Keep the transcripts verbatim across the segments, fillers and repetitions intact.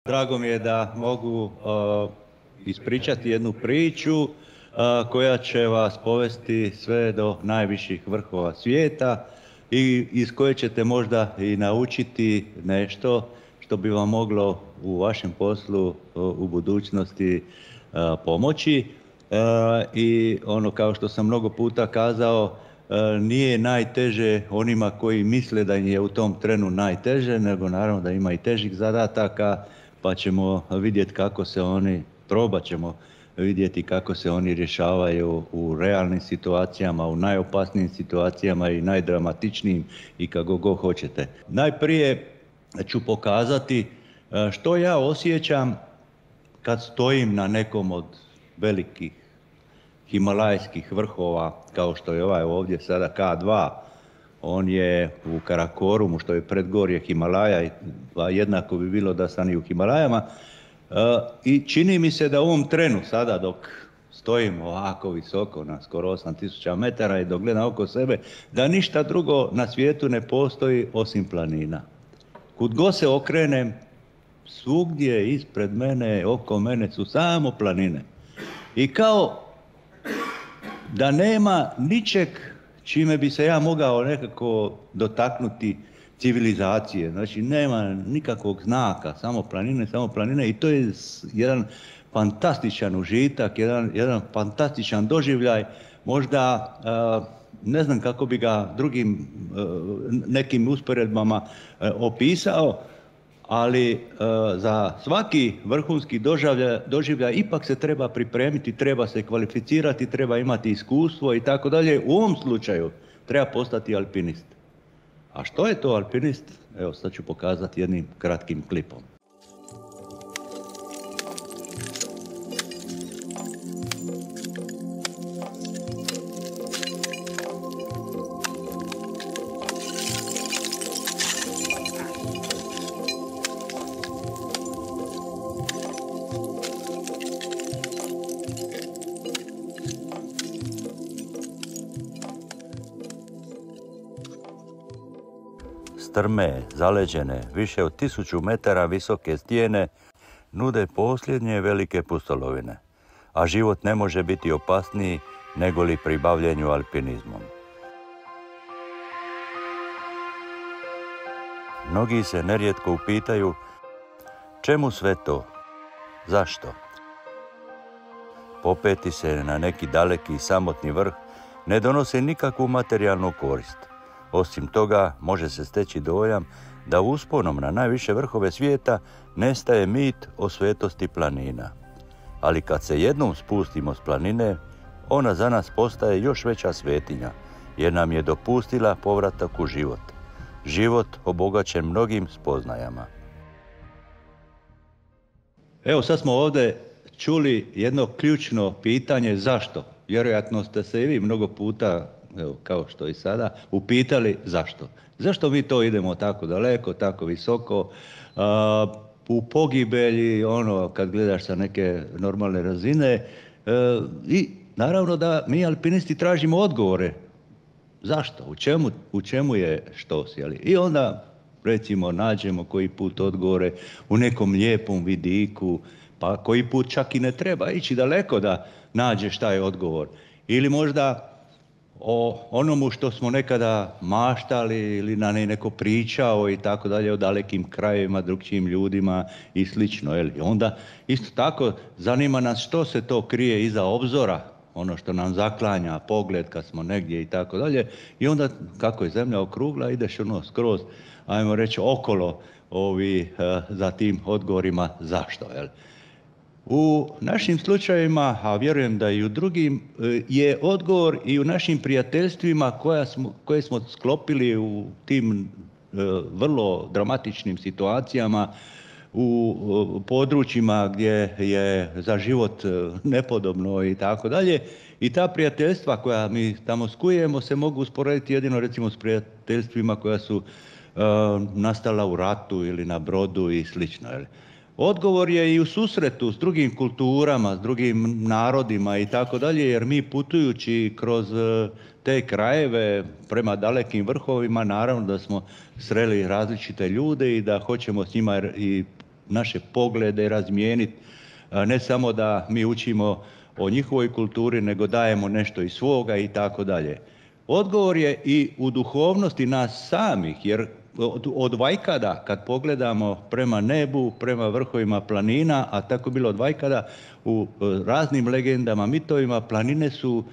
Drago mi je da mogu uh, ispričati jednu priču uh, koja će vas povesti sve do najviših vrhova svijeta i iz koje ćete možda i naučiti nešto što bi vam moglo u vašem poslu uh, u budućnosti uh, pomoći. Uh, I ono, kao što sam mnogo puta kazao, uh, nije najteže onima koji misle da im je u tom trenu najteže, nego naravno da ima i težih zadataka, pa ćemo vidjeti kako se oni, probat ćemo vidjeti kako se oni rješavaju u realnim situacijama, u najopasnijim situacijama i najdramatičnijim i kako god hoćete. Najprije ću pokazati što ja osjećam kad stojim na nekom od velikih himalajskih vrhova, kao što je ovaj ovdje sada K dva. On je u Karakorumu, što je predgorje Himalaja, a jednako bi bilo da sam i u Himalajama. I čini mi se da u ovom trenu sada dok stojim ovako visoko na skoro osam tisuća metara i dok gledam oko sebe, da ništa drugo na svijetu ne postoji osim planina. Kud god se okrenem, svugdje ispred mene, oko mene su samo planine. I kao da nema ničeg čime bi se ja mogao nekako dotaknuti civilizacije. Znači, nema nikakvog znaka, samo planine, samo planine i to je jedan fantastičan užitak, jedan, jedan fantastičan doživljaj. Možda ne znam kako bi ga drugim nekim usporedbama opisao, ali za svaki vrhunski doživljaj, doživljaj ipak se treba pripremiti, treba se kvalificirati, treba imati iskustvo i tako dalje. U ovom slučaju treba postati alpinist. A što je to alpinist? Evo, sad ću pokazati jednim kratkim klipom. Strme, zaleđene, više od tisuću metara visoke stijene nude posljednje velike pustolovine, a život ne može biti opasniji nego li pri bavljenju alpinizmom. Mnogi se nerijetko upitaju čemu sve to, zašto? Popeti se na neki daleki i samotni vrh ne donosi nikakvu materijalnu korist. Osim toga, može se steći dojam da usponom na najviše vrhove svijeta nestaje mit o svetosti planina. Ali kad se jednom spustimo s planine, ona za nas postaje još veća svetinja, jer nam je dopustila povratak u život. Život obogaćen mnogim spoznajama. Evo, sad smo ovdje čuli jedno ključno pitanje zašto. Vjerojatno ste se i vi mnogo puta, evo, kao što i sada, upitali zašto. Zašto mi to idemo tako daleko, tako visoko, uh, u pogibelji, ono, kad gledaš sa neke normalne razine. Uh, I naravno da mi alpinisti tražimo odgovore. Zašto? U čemu, u čemu je štos? Jeli? I onda, recimo, nađemo koji put odgovore u nekom lijepom vidiku, pa koji put čak i ne treba ići daleko da nađeš taj odgovor. Ili možda o onomu što smo nekada maštali ili na neko pričao i tako dalje, o dalekim krajevima, drugčijim ljudima i slično. Jel? Onda isto tako zanima nas što se to krije iza obzora, ono što nam zaklanja pogled kad smo negdje i tako dalje. I onda kako je zemlja okrugla, ideš ono skroz, ajmo reći, okolo ovi, za tim odgovorima zašto. Jel? U našim slučajevima, a vjerujem da i u drugim, je odgovor i u našim prijateljstvima koja smo, koje smo sklopili u tim vrlo dramatičnim situacijama, u područjima gdje je za život nepodobno i tako dalje. I ta prijateljstva koja mi tamo skujemo se mogu usporediti jedino recimo s prijateljstvima koja su uh, nastala u ratu ili na brodu i slično. Odgovor je i u susretu s drugim kulturama, s drugim narodima i tako dalje, jer mi putujući kroz te krajeve prema dalekim vrhovima, naravno da smo sreli različite ljude i da hoćemo s njima i naše poglede razmijeniti. Ne samo da mi učimo o njihovoj kulturi, nego dajemo nešto iz svoga i tako dalje. Odgovor je i u duhovnosti nas samih, jer od, od vajkada, kad pogledamo prema nebu, prema vrhovima planina, a tako bilo od vajkada, u raznim legendama, mitovima, planine su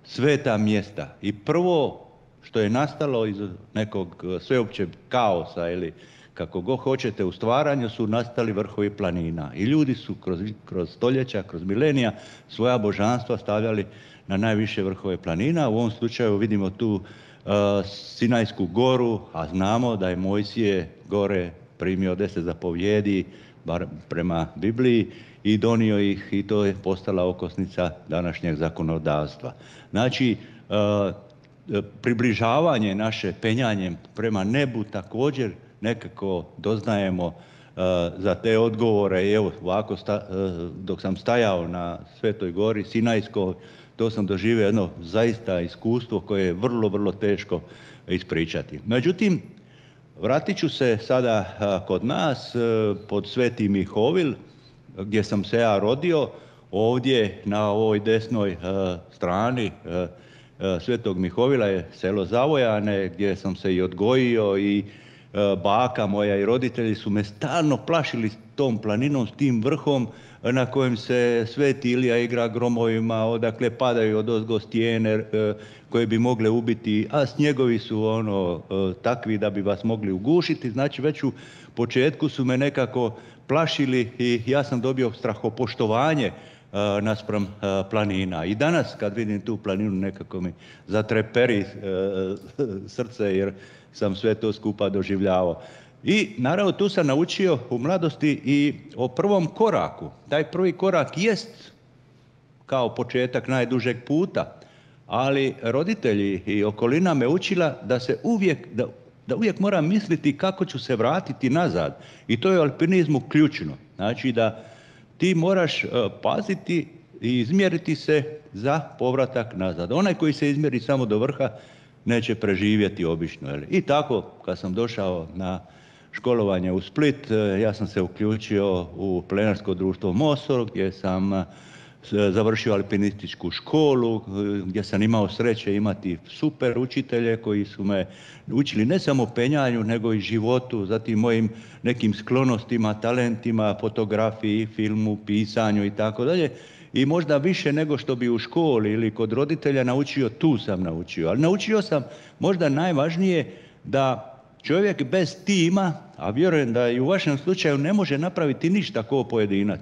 sveta mjesta. I prvo što je nastalo iz nekog sveopćeg kaosa ili kako god hoćete u stvaranju su nastali vrhovi planina. I ljudi su kroz, kroz stoljeća, kroz milenija svoja božanstva stavljali na najviše vrhove planina. U ovom slučaju vidimo tu uh, Sinajsku goru, a znamo da je Mojsije gore primio deset zapovjedi, bar prema Bibliji, i donio ih i to je postala okosnica današnjeg zakonodavstva. Znači, uh, približavanje naše penjanjem prema nebu također nekako doznajemo uh, za te odgovore. I evo, ovako sta, uh, dok sam stajao na Svetoj gori Sinajskoj, to sam doživio jedno zaista iskustvo koje je vrlo, vrlo teško ispričati. Međutim, vratit ću se sada uh, kod nas uh, pod Sveti Mihovil, gdje sam se ja rodio, ovdje na ovoj desnoj uh, strani uh, Svetog Mihovila je selo Zavojane, gdje sam se i odgojio i baka moja i roditelji su me stalno plašili s tom planinom, s tim vrhom na kojem se Sveti Ilija igra gromovima, odakle padaju odozgo stijene koje bi mogle ubiti, a snjegovi su ono takvi da bi vas mogli ugušiti. Znači već u početku su me nekako plašili i ja sam dobio strahopoštovanje naspram planina. I danas kad vidim tu planinu nekako mi zatreperi srce jer sam sve to skupa doživljavao. I naravno tu sam naučio u mladosti i o prvom koraku. Taj prvi korak jest kao početak najdužeg puta, ali roditelji i okolina me učila da se uvijek, da, da uvijek moram misliti kako ću se vratiti nazad. I to je u alpinizmu ključno. Znači da ti moraš uh, paziti i izmjeriti se za povratak nazad. Onaj koji se izmjeri samo do vrha neće preživjeti obično. Jel? I tako, kad sam došao na školovanje u Split, ja sam se uključio u Planinarsko društvo Mosor, gdje sam uh, završio alpinističku školu, gdje sam imao sreće imati super učitelje koji su me učili ne samo penjanju, nego i životu, zatim mojim nekim sklonostima, talentima, fotografiji, filmu, pisanju i tako dalje. I možda više nego što bi u školi ili kod roditelja naučio, tu sam naučio. Ali naučio sam možda najvažnije da čovjek bez tima, a vjerujem da i u vašem slučaju ne može napraviti ništa kao pojedinac.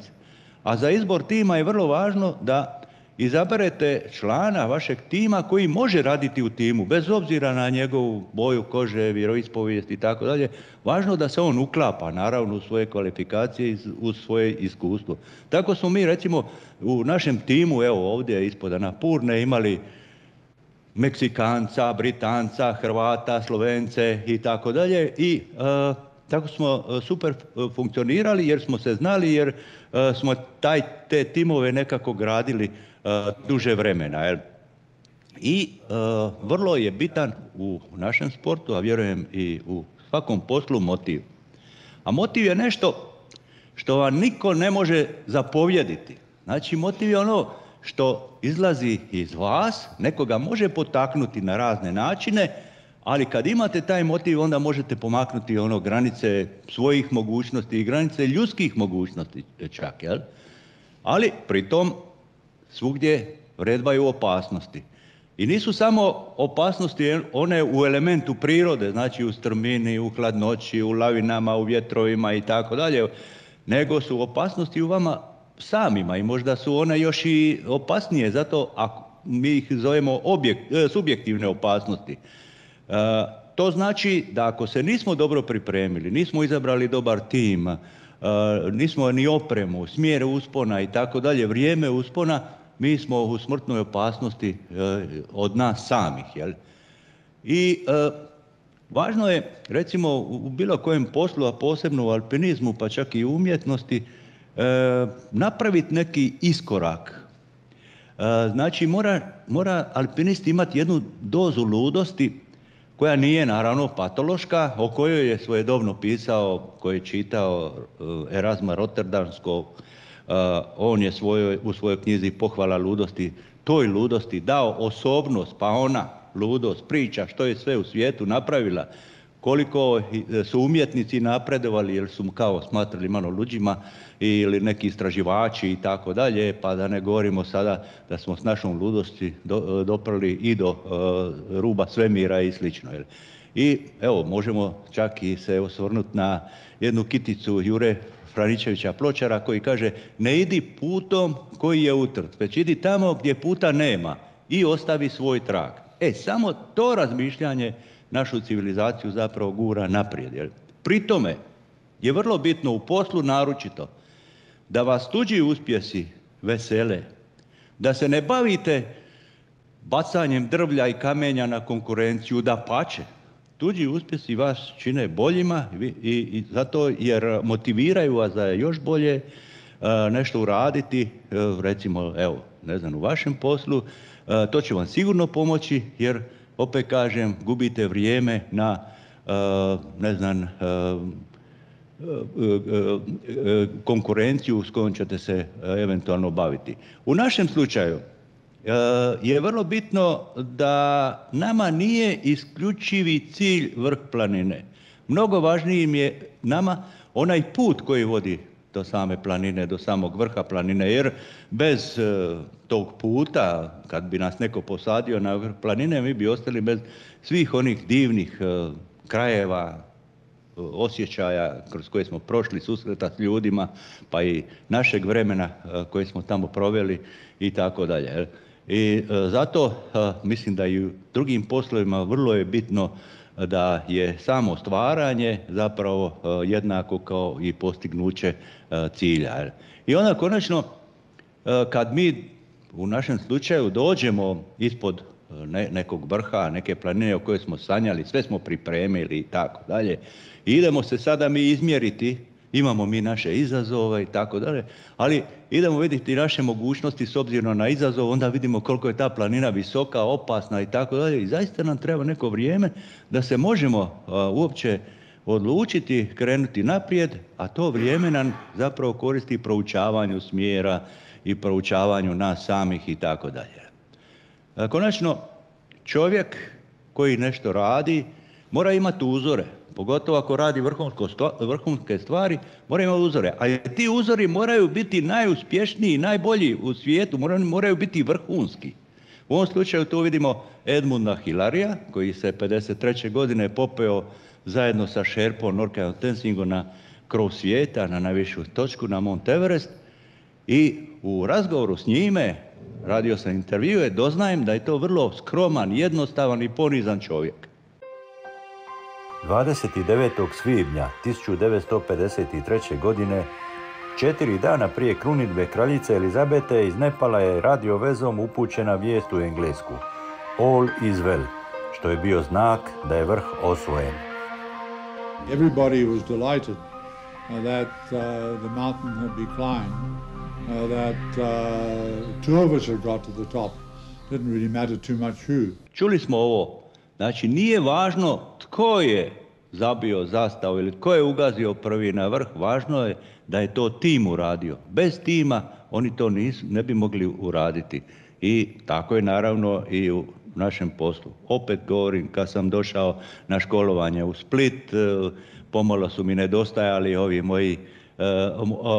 A za izbor tima je vrlo važno da izaberete člana vašeg tima koji može raditi u timu, bez obzira na njegovu boju kože, vjeroispovijest i tako dalje. Važno da se on uklapa, naravno, u svoje kvalifikacije i u svoje iskustvo. Tako smo mi, recimo, u našem timu, evo ovdje ispod Anapurne, imali Meksikanca, Britanca, Hrvata, Slovence i tako dalje. I uh, tako smo super funkcionirali jer smo se znali, jer uh, smo taj, te timove nekako gradili uh, duže vremena. Jel? I uh, vrlo je bitan u našem sportu, a vjerujem i u svakom poslu, motiv. A motiv je nešto što vam niko ne može zapovjediti. Znači motiv je ono što izlazi iz vas, nekoga može potaknuti na razne načine, ali kad imate taj motiv, onda možete pomaknuti ono granice svojih mogućnosti i granice ljudskih mogućnosti čak, jel? Ali pritom svugdje vredbaju opasnosti. I nisu samo opasnosti one u elementu prirode, znači u strmini, u hladnoći, u lavinama, u vjetrovima i tako dalje, nego su opasnosti u vama samima i možda su one još i opasnije, zato ako mi ih zovemo objekt, subjektivne opasnosti. E, to znači da ako se nismo dobro pripremili, nismo izabrali dobar tim, e, nismo ni opremu, smjer uspona i tako dalje, vrijeme uspona, mi smo u smrtnoj opasnosti e, od nas samih. Jel? I e, važno je, recimo, u bilo kojem poslu, a posebno u alpinizmu, pa čak i u umjetnosti, e, napraviti neki iskorak. E, znači, mora, mora alpinist imati jednu dozu ludosti koja nije naravno patološka, o kojoj je svojedobno pisao, koji je čitao Erazma Rotterdamskog. On je svojoj, u svojoj knjizi Pohvala ludosti toj ludosti dao osobnost, pa ona ludost priča što je sve u svijetu napravila, koliko su umjetnici napredovali jer su mu kao smatrali malo luđima ili neki istraživači i tako dalje, pa da ne govorimo sada da smo s našom ludosti do, doprli i do uh, ruba svemira i slično. I evo, možemo čak i se osvrnuti na jednu kiticu Jure Franičevića Pločara koji kaže: ne idi putom koji je utrt, već idi tamo gdje puta nema i ostavi svoj trag. E, samo to razmišljanje našu civilizaciju zapravo gura naprijed. Jer pri tome je vrlo bitno u poslu naročito da vas tuđi uspjesi vesele, da se ne bavite bacanjem drvlja i kamenja na konkurenciju, dapače. Tuđi uspjesi vas čine boljima i, i zato jer motiviraju vas da je još bolje uh, nešto uraditi, uh, recimo, evo, ne znam, u vašem poslu, uh, to će vam sigurno pomoći jer, opet kažem, gubite vrijeme na, uh, ne znam, uh, konkurenciju s kojom ćete se eventualno baviti. U našem slučaju je vrlo bitno da nama nije isključivi cilj vrh planine. Mnogo važniji je nama onaj put koji vodi do same planine, do samog vrha planine, jer bez tog puta, kad bi nas neko posadio na vrh planine, mi bi ostali bez svih onih divnih krajeva, osjećaja kroz koje smo prošli, susreta s ljudima, pa i našeg vremena koje smo tamo proveli i tako dalje. I zato mislim da i u drugim poslovima vrlo je bitno da je samo stvaranje zapravo jednako kao i postignuće cilja. I onda konačno kad mi u našem slučaju dođemo ispod ne, nekog vrha, neke planine o kojoj smo sanjali, sve smo pripremili i tako dalje, i idemo se sada mi izmjeriti, imamo mi naše izazove i tako dalje, ali idemo vidjeti naše mogućnosti s obzirom na izazov, onda vidimo koliko je ta planina visoka, opasna i tako dalje, i zaista nam treba neko vrijeme da se možemo a, uopće odlučiti, krenuti naprijed, a to vrijeme nam zapravo koristi proučavanju smjera i proučavanju nas samih i tako dalje. Konačno, čovjek koji nešto radi mora imati uzore, pogotovo ako radi vrhunske stvari, mora imati uzore. A ti uzori moraju biti najuspješniji, najbolji u svijetu, moraju, moraju biti vrhunski. U ovom slučaju tu vidimo Edmunda Hillarya, koji se pedeset treće godine popeo zajedno sa šerpom Norkajem Tenzingom na krov svijeta, na najvišu točku, na Mount Everest. I u razgovoru s njime, radio sam intervjue, doznajem da je to vrlo skroman, jednostavan i ponizan čovjek. dvadeset devetog svibnja tisuću devetsto pedeset treće. godine, četiri dana prije krunidbe kraljice Elizabete, iz Nepala je radio vezom upućena vijest u Englesku. All is well, što je bio znak da je vrh osvojen. Everybody was delighted uh, that uh, the mountain had been climbed, uh, that uh, two of us had got to the top. Didn't really matter too much who. Čuli smo ovo. Znači, nije važno tko je zabio zastavu ili tko je ugazio prvi na vrh, važno je da je to tim uradio. Bez tima oni to nisu, ne bi mogli uraditi. I tako je naravno i u našem poslu. Opet govorim, kad sam došao na školovanje u Split, pomalo su mi nedostajali ovi moji,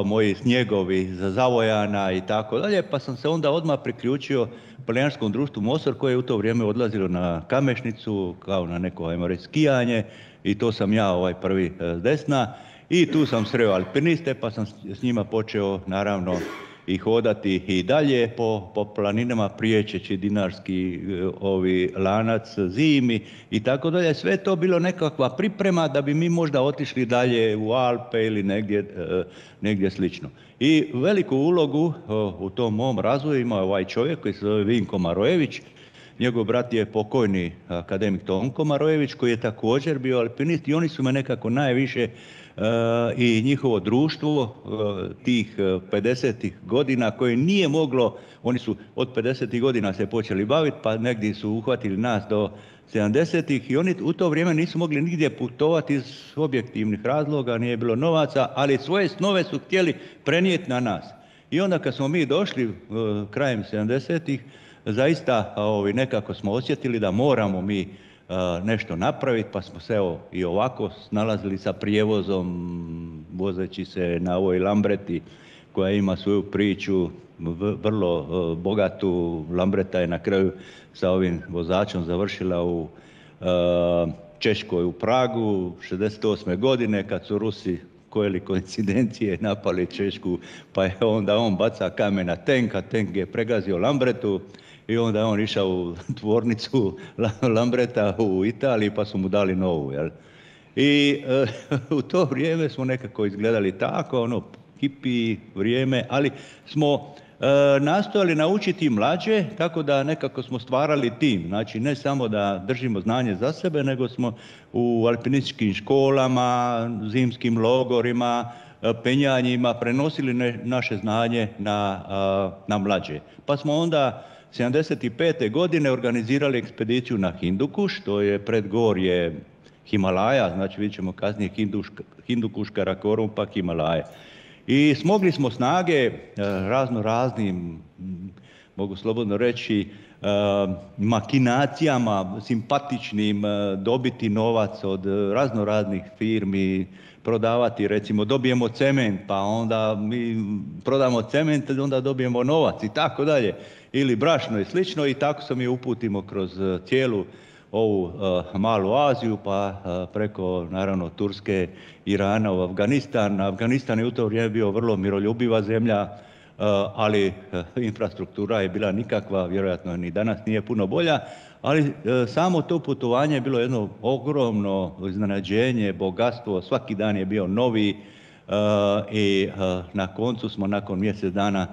moji snjegovi za Zavojana i tako dalje, pa sam se onda odmah priključio planinarskom društvu Mosor, koje je u to vrijeme odlazilo na Kamešnicu, kao na neko, ajmo reći, skijanje, i to sam ja ovaj prvi s desna, i tu sam sreo alpiniste, pa sam s njima počeo naravno i hodati i dalje po, po planinama, priječeći dinarski ovi lanac zimi i tako dalje. Sve to bilo nekakva priprema da bi mi možda otišli dalje u Alpe ili negdje, negdje slično. I veliku ulogu u tom mom razvoju ima ovaj čovjek koji se zove Vinko Marojević, njegov brat je pokojni akademik Tonko Marojević koji je također bio alpinist i oni su me nekako najviše i njihovo društvo tih pedesetih godina koje nije moglo, oni su od pedesetih godina se počeli baviti pa negdje su uhvatili nas do sedamdesetih i oni u to vrijeme nisu mogli nigdje putovati iz objektivnih razloga, nije bilo novaca, ali svoje snove su htjeli prenijeti na nas. I onda kad smo mi došli krajem sedamdesetih zaista ovi, nekako smo osjetili da moramo mi nešto napraviti, pa smo se evo i ovako snalazili sa prijevozom, vozeći se na ovoj Lambreti koja ima svoju priču, vrlo bogatu. Lambreta je na kraju sa ovim vozačom završila u Češkoj u Pragu šezdeset osme godine kad su Rusi kojeli koincidencije napali Češku, pa je onda on baca kamen na tenk, a tenk je pregazio Lambretu. I onda je on išao u tvornicu Lambreta u Italiji pa su mu dali novu. Jel? I e, u to vrijeme smo nekako izgledali tako, ono, hipi vrijeme, ali smo e, nastojali naučiti mlađe, tako da nekako smo stvarali tim. Znači, ne samo da držimo znanje za sebe, nego smo u alpinističkim školama, zimskim logorima, penjanjima prenosili ne, naše znanje na, a, na mlađe. Pa smo onda sedamdeset pete godine organizirali ekspediciju na Hindukuš, to je predgorje Himalaja, znači vidjet ćemo kasnije Hindukuš, Karakorum pa Himalaje. I smogli smo snage razno raznim, mogu slobodno reći, makinacijama, simpatičnim, dobiti novac od razno raznih firmi, prodavati, recimo dobijemo cement, pa onda mi prodamo cement, onda dobijemo novac i tako dalje. Ili brašno i slično i tako se mi uputimo kroz cijelu ovu uh, malu Aziju, pa uh, preko naravno Turske, Irana u Afganistan. Afganistan je u to vrijeme bio vrlo miroljubiva zemlja, uh, ali uh, infrastruktura je bila nikakva, vjerojatno ni danas nije puno bolja, ali uh, samo to putovanje je bilo jedno ogromno iznenađenje, bogatstvo, svaki dan je bio novi uh, i uh, na koncu smo nakon mjesec dana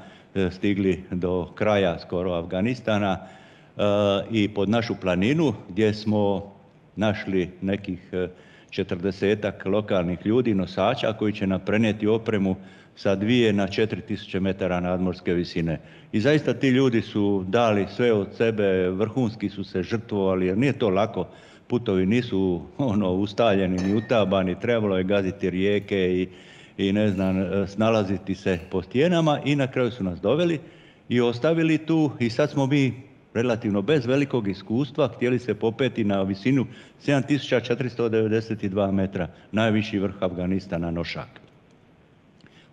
stigli do kraja skoro Afganistana uh, i pod našu planinu gdje smo našli nekih četrdesetak lokalnih ljudi, nosača koji će nam prenijeti opremu sa dvije na četiri tisuće metara nadmorske visine. I zaista ti ljudi su dali sve od sebe, vrhunski su se žrtvovali jer nije to lako. Putovi nisu ono ustaljeni ni utabani, trebalo je gaziti rijeke i i ne znam, snalaziti se po stijenama i na kraju su nas doveli i ostavili tu i sad smo mi relativno bez velikog iskustva htjeli se popeti na visinu sedam tisuća četiristo devedeset dva metra, najviši vrh Afganistana, Nošak.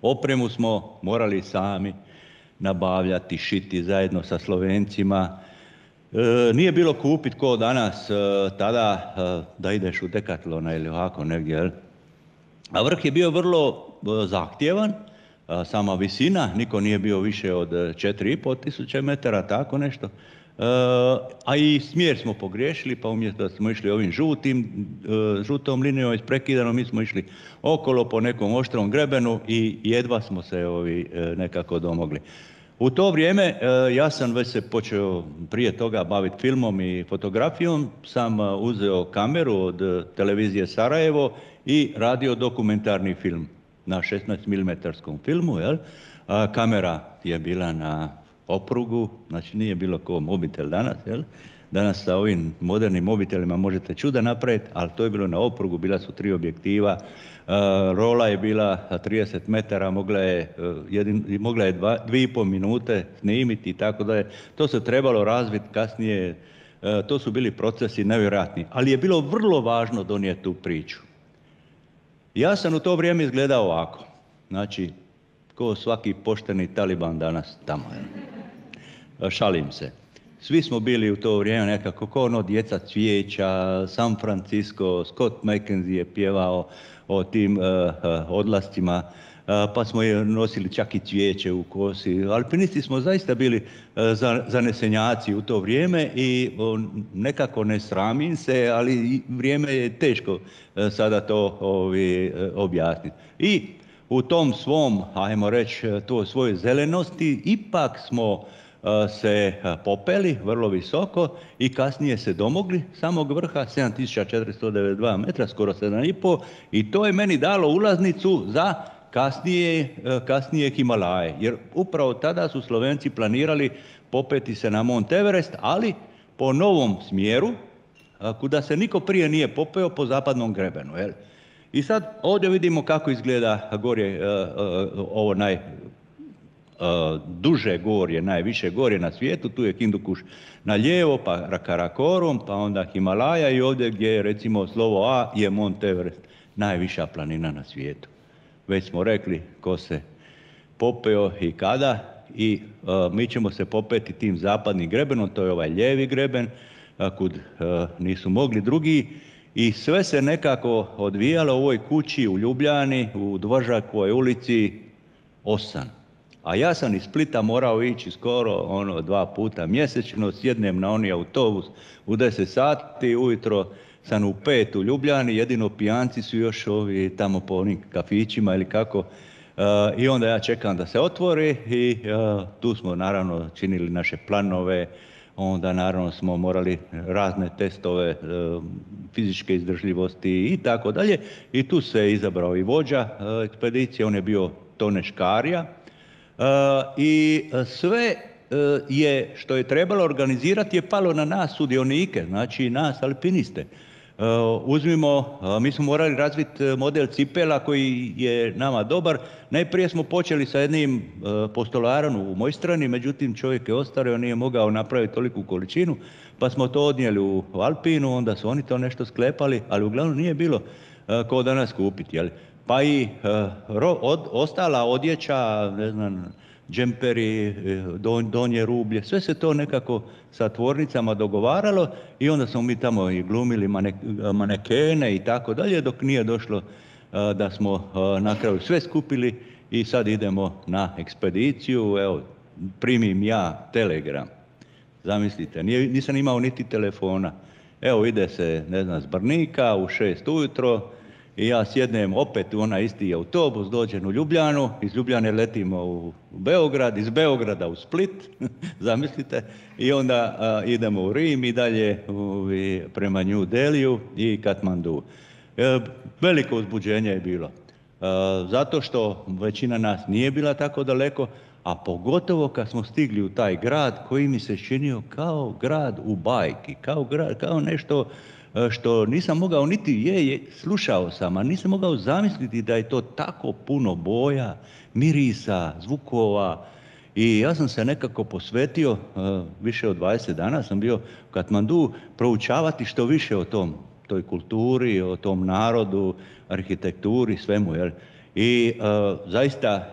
Opremu smo morali sami nabavljati, šiti zajedno sa Slovencima. E, nije bilo kupit ko danas e, tada e, da ideš u Decathlona ili ovako negdje, jel? A vrh je bio vrlo zahtjevan, sama visina, niko nije bio više od četiri i pol tisuće metara, tako nešto. A i smjer smo pogriješili, pa umjesto da smo išli ovim žutim, žutom linijom isprekidanom, mi smo išli okolo po nekom oštrom grebenu i jedva smo se ovi nekako domogli. U to vrijeme ja sam već se počeo prije toga baviti filmom i fotografijom, sam uzeo kameru od televizije Sarajevo i radio dokumentarni film na šesnaest milimetara filmu. Jel? A, kamera je bila na oprugu, znači nije bilo ko mobitel danas. Jel? Danas sa ovim modernim mobitelima možete čuda napraviti, ali to je bilo na oprugu, bila su tri objektiva. A, rola je bila trideset metara, mogla je, jedin, mogla je dva, dvije i pol minute snimiti i tako da je. To se trebalo razviti kasnije, a, to su bili procesi nevjerojatni, ali je bilo vrlo važno donijeti tu priču. Ja sam u to vrijeme izgledao ovako, znači, ko svaki pošteni taliban danas tamo. Je. Šalim se. Svi smo bili u to vrijeme nekako ko ono djeca cvijeća, San Francisco, Scott McKenzie je pjevao o tim uh, uh, odlascima, uh, pa smo je nosili čak i cvijeće u kosi. Alpinisti smo zaista bili uh, zanesenjaci u to vrijeme i uh, nekako ne sramim se, ali vrijeme je teško uh, sada to ovi, uh, objasniti. I u tom svom, ajmo reći, to svojoj zelenosti, ipak smo se popeli vrlo visoko i kasnije se domogli samog vrha, sedam tisuća četiristo devedeset dva metra, skoro sedam i pol, i to je meni dalo ulaznicu za kasnije, kasnije Himalaje. Jer upravo tada su Slovenci planirali popeti se na Mont Everest, ali po novom smjeru, kuda se niko prije nije popeo, po zapadnom grebenu. Jel? I sad ovdje vidimo kako izgleda gorje, ovo naj... duže gorje, najviše gorje na svijetu, tu je Hindukuš na lijevo, pa Karakorum, pa onda Himalaja i ovdje gdje je recimo slovo A je Mont Everest, najviša planina na svijetu. Već smo rekli ko se popeo i kada i uh, mi ćemo se popeti tim zapadnim grebenom, to je ovaj lijevi greben, uh, kud uh, nisu mogli drugi i sve se nekako odvijalo u ovoj kući u Ljubljani, u Dvožakovoj ulici osam. A ja sam iz Splita morao ići skoro ono dva puta mjesečno, sjednem na oni autobus u deset sati, ujutro sam u pet u Ljubljani, jedino pijanci su još ovi tamo po onim kafićima ili kako. Uh, I onda ja čekam da se otvori i uh, tu smo naravno činili naše planove, onda naravno smo morali razne testove uh, fizičke izdržljivosti i tako dalje. I tu se izabrao i vođa uh, ekspedicije, on je bio Tone Škarija. Uh, I sve uh, je što je trebalo organizirati je palo na nas sudionike, znači nas alpiniste. Uh, uzmimo, uh, mi smo morali razviti model cipela koji je nama dobar. Najprije smo počeli sa jednim uh, postolarom u Mojstrani, međutim čovjek je ostario, nije mogao napraviti toliku količinu, pa smo to odnijeli u Alpinu, onda su oni to nešto sklepali, ali uglavnom nije bilo uh, ko danas kupiti, jel? Pa i uh, ro, od, ostala odjeća, ne znam, džemperi, don, donje rublje, sve se to nekako sa tvornicama dogovaralo i onda smo mi tamo i glumili mane, manekene i tako dalje, dok nije došlo uh, da smo uh, na kraju sve skupili i sad idemo na ekspediciju. Evo, primim ja telegram. Zamislite, nije, nisam imao niti telefona. Evo, ide se, ne znam, s Brnika u šest ujutro, i ja sjednem opet u onaj isti autobus, dođem u Ljubljanu, iz Ljubljane letimo u Beograd, iz Beograda u Split, zamislite, i onda a, idemo u Rim i dalje u, i prema New Delhiju i Katmandu. E, veliko uzbuđenje je bilo, e, zato što većina nas nije bila tako daleko, a pogotovo kad smo stigli u taj grad koji mi se činio kao grad u bajki, kao, grad, kao nešto što nisam mogao niti je, je, slušao sam, a nisam mogao zamisliti da je to tako puno boja, mirisa, zvukova. I ja sam se nekako posvetio, uh, više od dvadeset dana sam bio u Katmandu, proučavati što više o tom, toj kulturi, o tom narodu, arhitekturi, svemu. Jel? I uh, zaista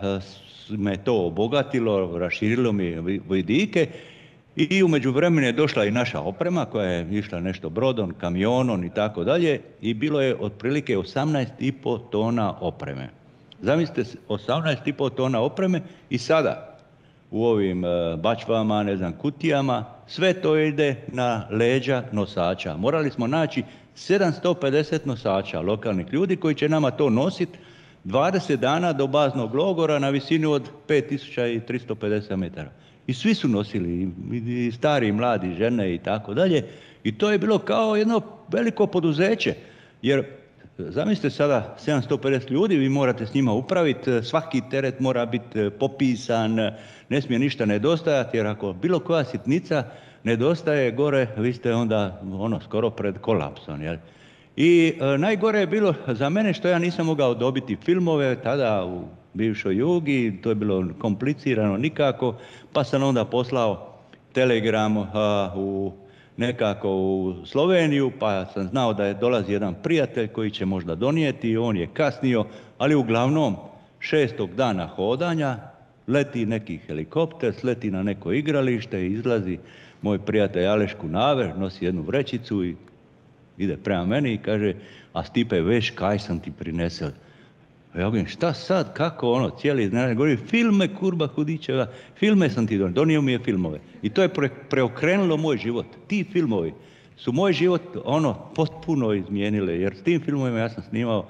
uh, me to obogatilo, raširilo mi vidike. I u međuvremenu je došla i naša oprema koja je išla nešto brodom, kamionom i tako dalje i bilo je otprilike osamnaest i pol tona opreme. Zamislite, osamnaest i pol tona opreme i sada u ovim bačvama, ne znam, kutijama, sve to ide na leđa nosača. Morali smo naći sedamsto pedeset nosača, lokalnih ljudi koji će nama to nositi dvadeset dana do baznog logora na visini od pet tisuća tristo pedeset metara. I svi su nosili, i stari, i mladi, žene i tako dalje. I to je bilo kao jedno veliko poduzeće. Jer, zamislite sada, sedamsto pedeset ljudi, vi morate s njima upraviti, svaki teret mora biti popisan, ne smije ništa nedostajati, jer ako bilo koja sitnica nedostaje gore, vi ste onda ono, skoro pred kolapsom. Jel? I e, najgore je bilo za mene što ja nisam mogao dobiti filmove tada u bivšoj Jugi, to je bilo komplicirano nikako, pa sam onda poslao telegram a, u, nekako u Sloveniju, pa sam znao da je dolazi jedan prijatelj koji će možda donijeti, on je kasnio, ali uglavnom šestog dana hodanja leti neki helikopter, sleti na neko igralište i izlazi moj prijatelj Aleš Kunaver, nosi jednu vrećicu i ide prema meni i kaže, a Stipe, veš kaj sam ti prinesel? Ja govorim, šta sad, kako ono, cijeli dan, govorim, filme, kurba Hudićeva, filme sam ti donio, donio mi je filmove. I to je pre, preokrenulo moj život. Ti filmovi su moj život, ono, potpuno izmijenile, jer s tim filmovima ja sam snimao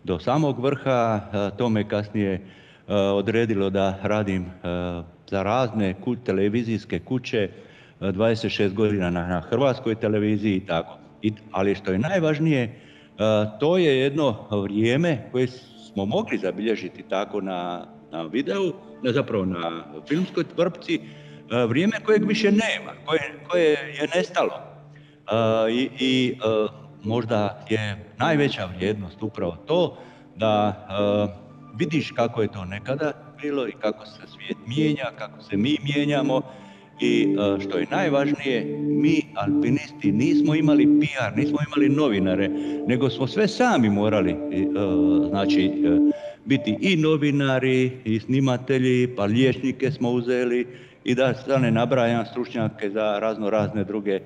do samog vrha, to me kasnije uh, odredilo da radim uh, za razne ku, televizijske kuće, dvadeset šest godina na, na hrvatskoj televiziji i tako. I, ali što je najvažnije, to je jedno vrijeme koje smo mogli zabilježiti tako na, na videu, ne, zapravo na filmskoj vrpci, vrijeme kojeg više nema, koje, koje je nestalo. I, i možda je najveća vrijednost upravo to da vidiš kako je to nekada bilo i kako se svijet mijenja, kako se mi mijenjamo. I što je najvažnije, mi alpinisti nismo imali P R, nismo imali novinare, nego smo sve sami morali, znači, biti i novinari, i snimatelji, pa liječnike smo uzeli i da sad ne nabrajam stručnjake za razno razne druge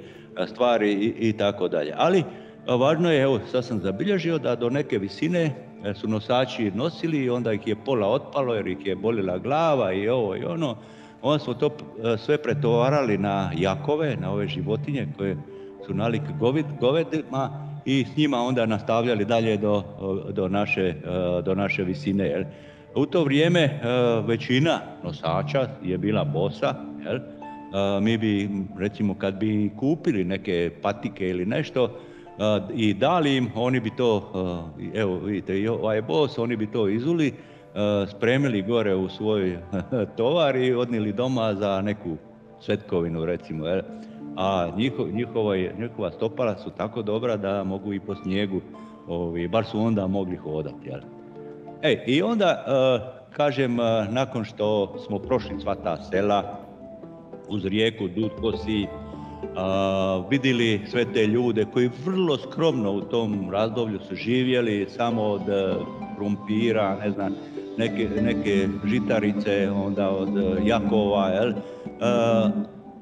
stvari i, i tako dalje. Ali važno je, evo sad sam zabilježio da do neke visine su nosači nosili i onda ih je pola otpalo jer ih je bolila glava i ovo i ono. Onda smo to sve pretovarali na jakove, na ove životinje koje su nalik govedima i s njima onda nastavljali dalje do, do, naše, do naše visine. Jel? U to vrijeme većina nosača je bila bosa. Jel? Mi bi, recimo, kad bi kupili neke patike ili nešto i dali im, oni bi to, evo vidite, i ovaj bos, oni bi to izuli, spremili gore u svoj tovar i odnijeli doma za neku svetkovinu, recimo. Jel? A njiho, njihova, njihova stopala su tako dobra da mogu i po snijegu, ovi, bar su onda mogli hodati. Jel? E, i onda, kažem, nakon što smo prošli sva ta sela, uz rijeku Dud Kosi, vidjeli sve te ljude koji vrlo skromno u tom razdoblju su živjeli, samo od krumpira, ne znam, neke, neke žitarice, onda od jakova, jel?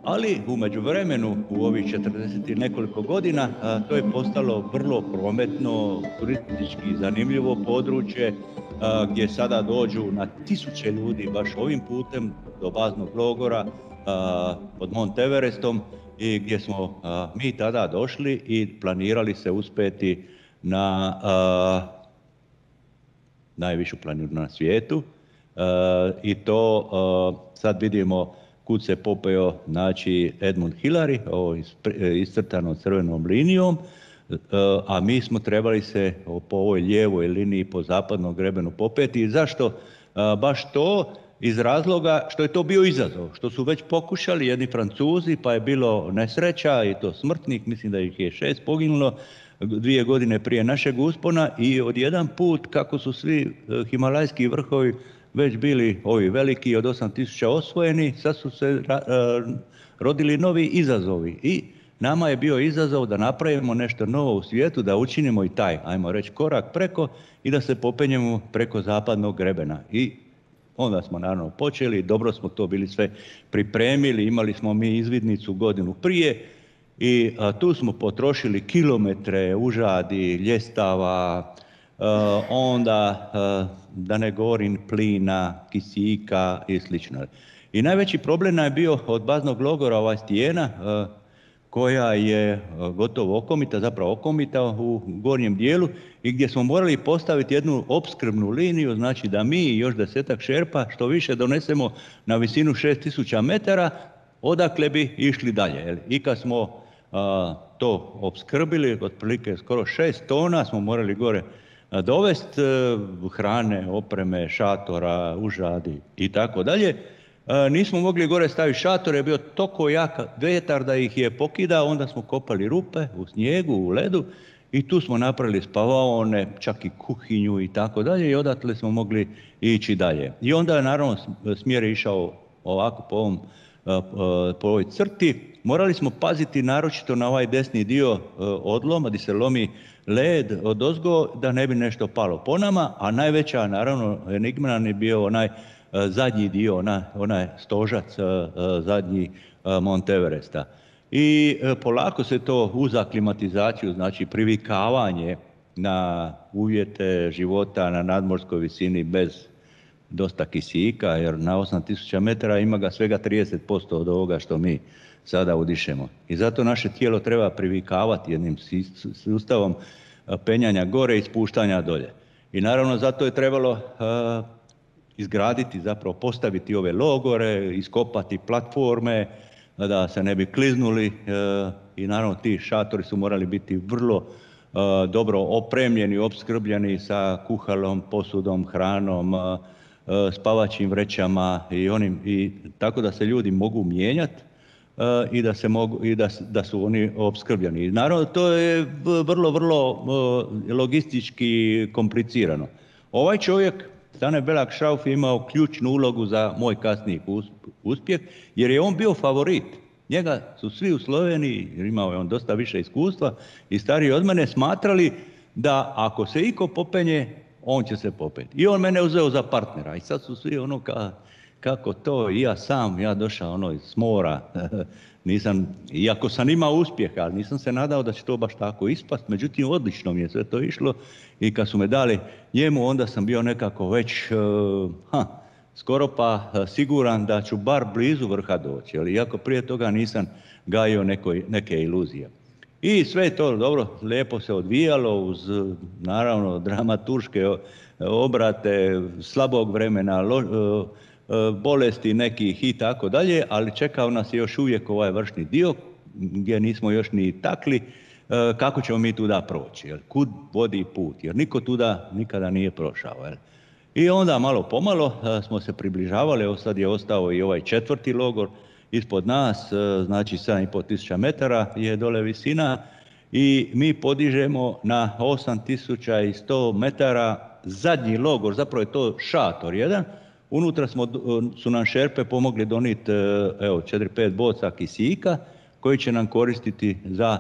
Ali u međuvremenu, u ovih četrdeset i nekoliko godina, to je postalo vrlo prometno, turistički zanimljivo područje, gdje sada dođu na tisuće ljudi baš ovim putem do baznog logora pod Mont Everestom i gdje smo mi tada došli i planirali se uspjeti na najvišu planinu na svijetu i to sad vidimo kud se popeo, znači, Edmund Hillary, ovo iscrtano crvenom linijom, a mi smo trebali se po ovoj lijevoj liniji po zapadnom grebenu popeti. I zašto? Baš to iz razloga što je to bio izazov, što su već pokušali jedni Francuzi, pa je bilo nesreća i to smrtnih, mislim da ih je šest poginulo dvije godine prije našeg uspona i odjedan put kako su svi himalajski vrhovi već bili ovi veliki od osam tisuća osvojeni, sad su se rodili novi izazovi i nama je bio izazov da napravimo nešto novo u svijetu, da učinimo i taj, ajmo reći, korak preko i da se popenjemo preko zapadnog grebena. I onda smo naravno počeli, dobro smo to bili sve pripremili, imali smo mi izvidnicu godinu prije i a, tu smo potrošili kilometre užadi, ljestava, a, onda a, da ne govorim plina, kisika i slično. I najveći problem nam je bio od baznog logora ova stijena a, koja je gotovo okomita, zapravo okomita u gornjem dijelu i gdje smo morali postaviti jednu opskrbnu liniju, znači da mi i još desetak šerpa što više donesemo na visinu šest tisuća metara, odakle bi išli dalje. I kad smo a, to opskrbili, otprilike skoro šest tona smo morali gore dovesti hrane, opreme, šatora, užadi i tako dalje. Nismo mogli gore staviti šator, je bio toliko jak vjetar da ih je pokidao, onda smo kopali rupe u snijegu, u ledu i tu smo napravili spavaone, čak i kuhinju i tako dalje i odatle smo mogli ići dalje. I onda je naravno smjer išao ovako po, ovom, po ovoj crti. Morali smo paziti naročito na ovaj desni dio odloma gdje se lomi led odozgo da ne bi nešto palo po nama, a najveća naravno enigma nam je bio onaj zadnji dio, ona, onaj stožac zadnji Mont Everesta. I polako se to uz aklimatizaciju, znači privikavanje na uvjete života na nadmorskoj visini bez dosta kisika, jer na osam tisuća metara ima ga svega trideset posto od ovoga što mi sada udišemo. I zato naše tijelo treba privikavati jednim sustavom penjanja gore i spuštanja dolje. I naravno zato je trebalo izgraditi, zapravo postaviti ove logore, iskopati platforme, da se ne bi kliznuli i naravno ti šatori su morali biti vrlo dobro opremljeni, opskrbljeni sa kuhalom, posudom, hranom, spavaćim vrećama i onim, i tako da se ljudi mogu mijenjati i da se mogu i da, da su oni opskrbljeni. I naravno to je vrlo, vrlo logistički komplicirano. Ovaj čovjek, Stane Belak Šrauf, je imao ključnu ulogu za moj kasniji uspjeh, jer je on bio favorit. Njega su svi u Sloveniji, jer imao je on dosta više iskustva i stariji od mene, smatrali da ako se iko popenje, on će se popeti. I on mene uzeo za partnera i sad su svi ono ka, kako to, i ja sam, ja došao ono iz mora, nisam, iako sam imao uspjeha, ali nisam se nadao da će to baš tako ispast, međutim odlično mi je sve to išlo i kad su me dali njemu, onda sam bio nekako već, uh, ha, skoro pa siguran da ću bar blizu vrha doći, ali iako prije toga nisam gajio neko, neke iluzije. I sve to dobro, lijepo se odvijalo uz naravno dramaturške obrate, slabog vremena, lo, bolesti nekih i tako dalje, ali čekao nas je još uvijek ovaj vršni dio gdje nismo još ni takli kako ćemo mi tuda proći, jel? Kud vodi put, jer niko tuda nikada nije prošao. Jel? I onda malo pomalo smo se približavali, evo sad je ostao i ovaj četvrti logor ispod nas, znači sedam i pol tisuća metara je dole visina i mi podižemo na osam tisuća sto metara zadnji logor, zapravo je to šator jedan. Unutra smo, su nam šerpe pomogli donijeti evo četiri pet boca kisika koji će nam koristiti za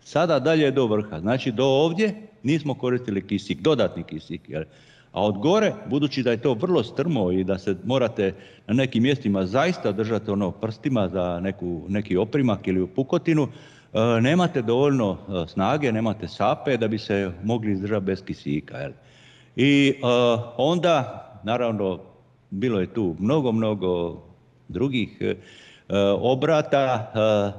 sada dalje do vrha. Znači do ovdje nismo koristili kisik, dodatni kisik. Jer, a od gore, budući da je to vrlo strmo i da se morate na nekim mjestima zaista držati ono prstima za neku, neki oprimak ili pukotinu, e, nemate dovoljno snage, nemate sape da bi se mogli izdržati bez kisika. Jel? I e, onda, naravno, bilo je tu mnogo, mnogo drugih e, obrata. E,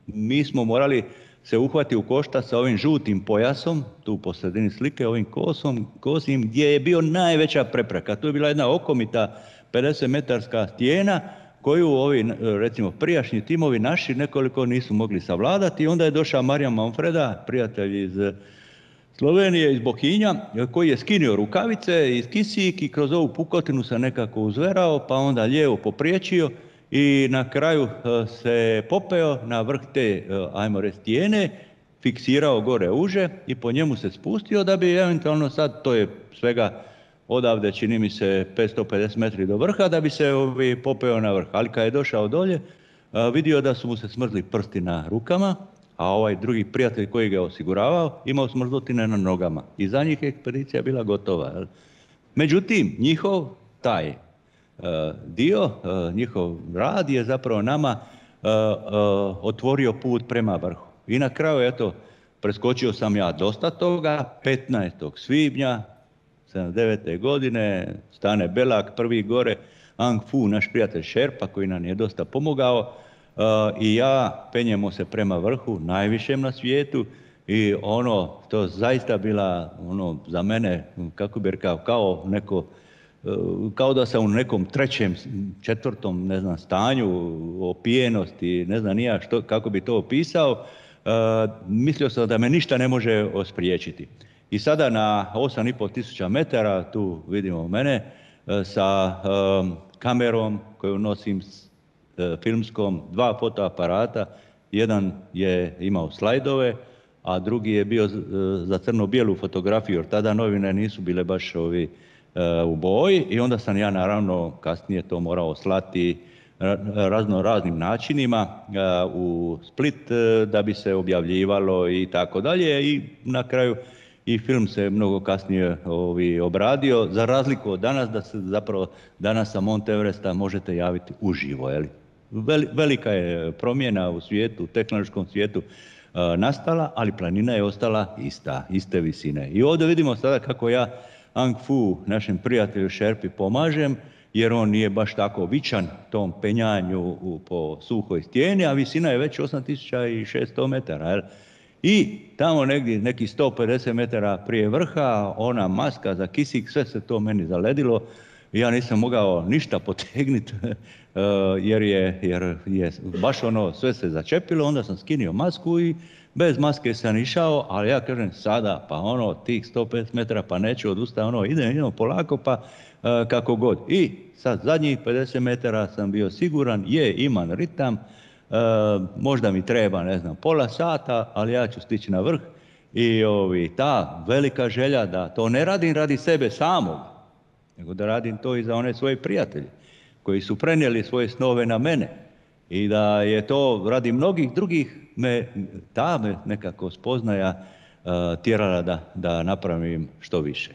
mi smo morali se uhvati u koštac sa ovim žutim pojasom, tu po sredini slike, ovim kosom, kosim, gdje je bio najveća prepreka. Tu je bila jedna okomita pedeset metarska stijena koju ovi, recimo, prijašnji timovi naši nekoliko nisu mogli savladati. Onda je došao Marijan Manfreda, prijatelj iz Slovenije, iz Bohinja, koji je skinio rukavice iz kisik i kroz ovu pukotinu se nekako uzverao, pa onda lijevo popriječio i na kraju se popeo na vrh te, ajmo reći, stijene, fiksirao gore uže i po njemu se spustio da bi eventualno sad, to je svega odavde čini mi se petsto pedeset metri do vrha, da bi se ovi popeo na vrh. Ali kad je došao dolje, vidio da su mu se smrzli prsti na rukama, a ovaj drugi prijatelj koji ga je osiguravao imao smrzotine na nogama. I za njih je ekspedicija bila gotova. Jel? Međutim, njihov taj uh, dio, uh, njihov rad je zapravo nama uh, uh, otvorio put prema vrhu. I na kraju, eto, preskočio sam ja dosta toga. petnaestog svibnja sedamdeset devete. godine, Stane Belak, prvi gore, Ang Fu, naš prijatelj Šerpa, koji nam je dosta pomogao, Uh, i ja penjemo se prema vrhu, najvišem na svijetu, i ono, to zaista bila, ono, za mene, kako bi rekao, kao neko, uh, kao da sam u nekom trećem, četvrtom, ne znam, stanju, opijenosti, ne znam nija što, kako bi to opisao, uh, mislio sam da me ništa ne može ospriječiti. I sada na osam i pol tisuća metara, tu vidimo mene, uh, sa um, kamerom koju nosim filmskom, dva fotoaparata, jedan je imao slajdove, a drugi je bio za crno-bijelu fotografiju, jer tada novine nisu bile baš ovi u boji, i onda sam ja naravno kasnije to morao slati razno raznim načinima u Split da bi se objavljivalo i tako dalje, i na kraju i film se mnogo kasnije ovi obradio, za razliku od danas, da se zapravo danas sa Mount Everesta možete javiti uživo, je li? Velika je promjena u svijetu, u tehnološkom svijetu uh, nastala, ali planina je ostala ista, iste visine. I ovdje vidimo sada kako ja Ang Fu, našem prijatelju Šerpi, pomažem, jer on nije baš tako vičan tom penjanju u, po suhoj stijeni, a visina je već osam tisuća šesto metara. Jel? I tamo negdje, neki sto pedeset metara prije vrha, ona maska za kisik, sve se to meni zaledilo. Ja nisam mogao ništa potegnuti jer je, jer je baš ono sve se začepilo, onda sam skinio masku i bez maske sam išao, ali ja kažem sada pa ono tih sto pedeset metara pa neću odustati, ono idem, idem polako pa kako god. I sad zadnjih pedeset metara sam bio siguran, je imam ritam, možda mi treba ne znam pola sata, ali ja ću stići na vrh. I ovi, ta velika želja da to ne radim radi sebe samog, nego da radim to i za one svoje prijatelje koji su prenijeli svoje snove na mene i da je to radi mnogih drugih me, ta me nekako spoznaja uh, tjerala da, da napravim što više.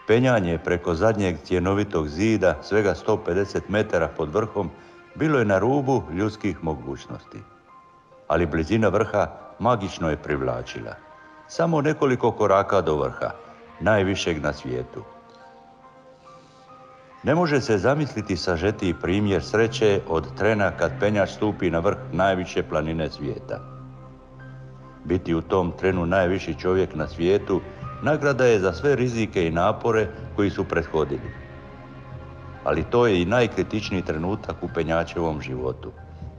Penjanje preko zadnjeg cjenovitog zida, svega sto pedeset metara pod vrhom, bilo je na rubu ljudskih mogućnosti. Ali blizina vrha magično je privlačila. Samo nekoliko koraka do vrha, najvišeg na svijetu. Ne može se zamisliti sažetiji primjer sreće od trena kad penjač stupi na vrh najviše planine svijeta. Biti u tom trenu najviši čovjek na svijetu nagrada je za sve rizike i napore koji su prethodili. Ali to je i najkritičniji trenutak u penjačevom životu,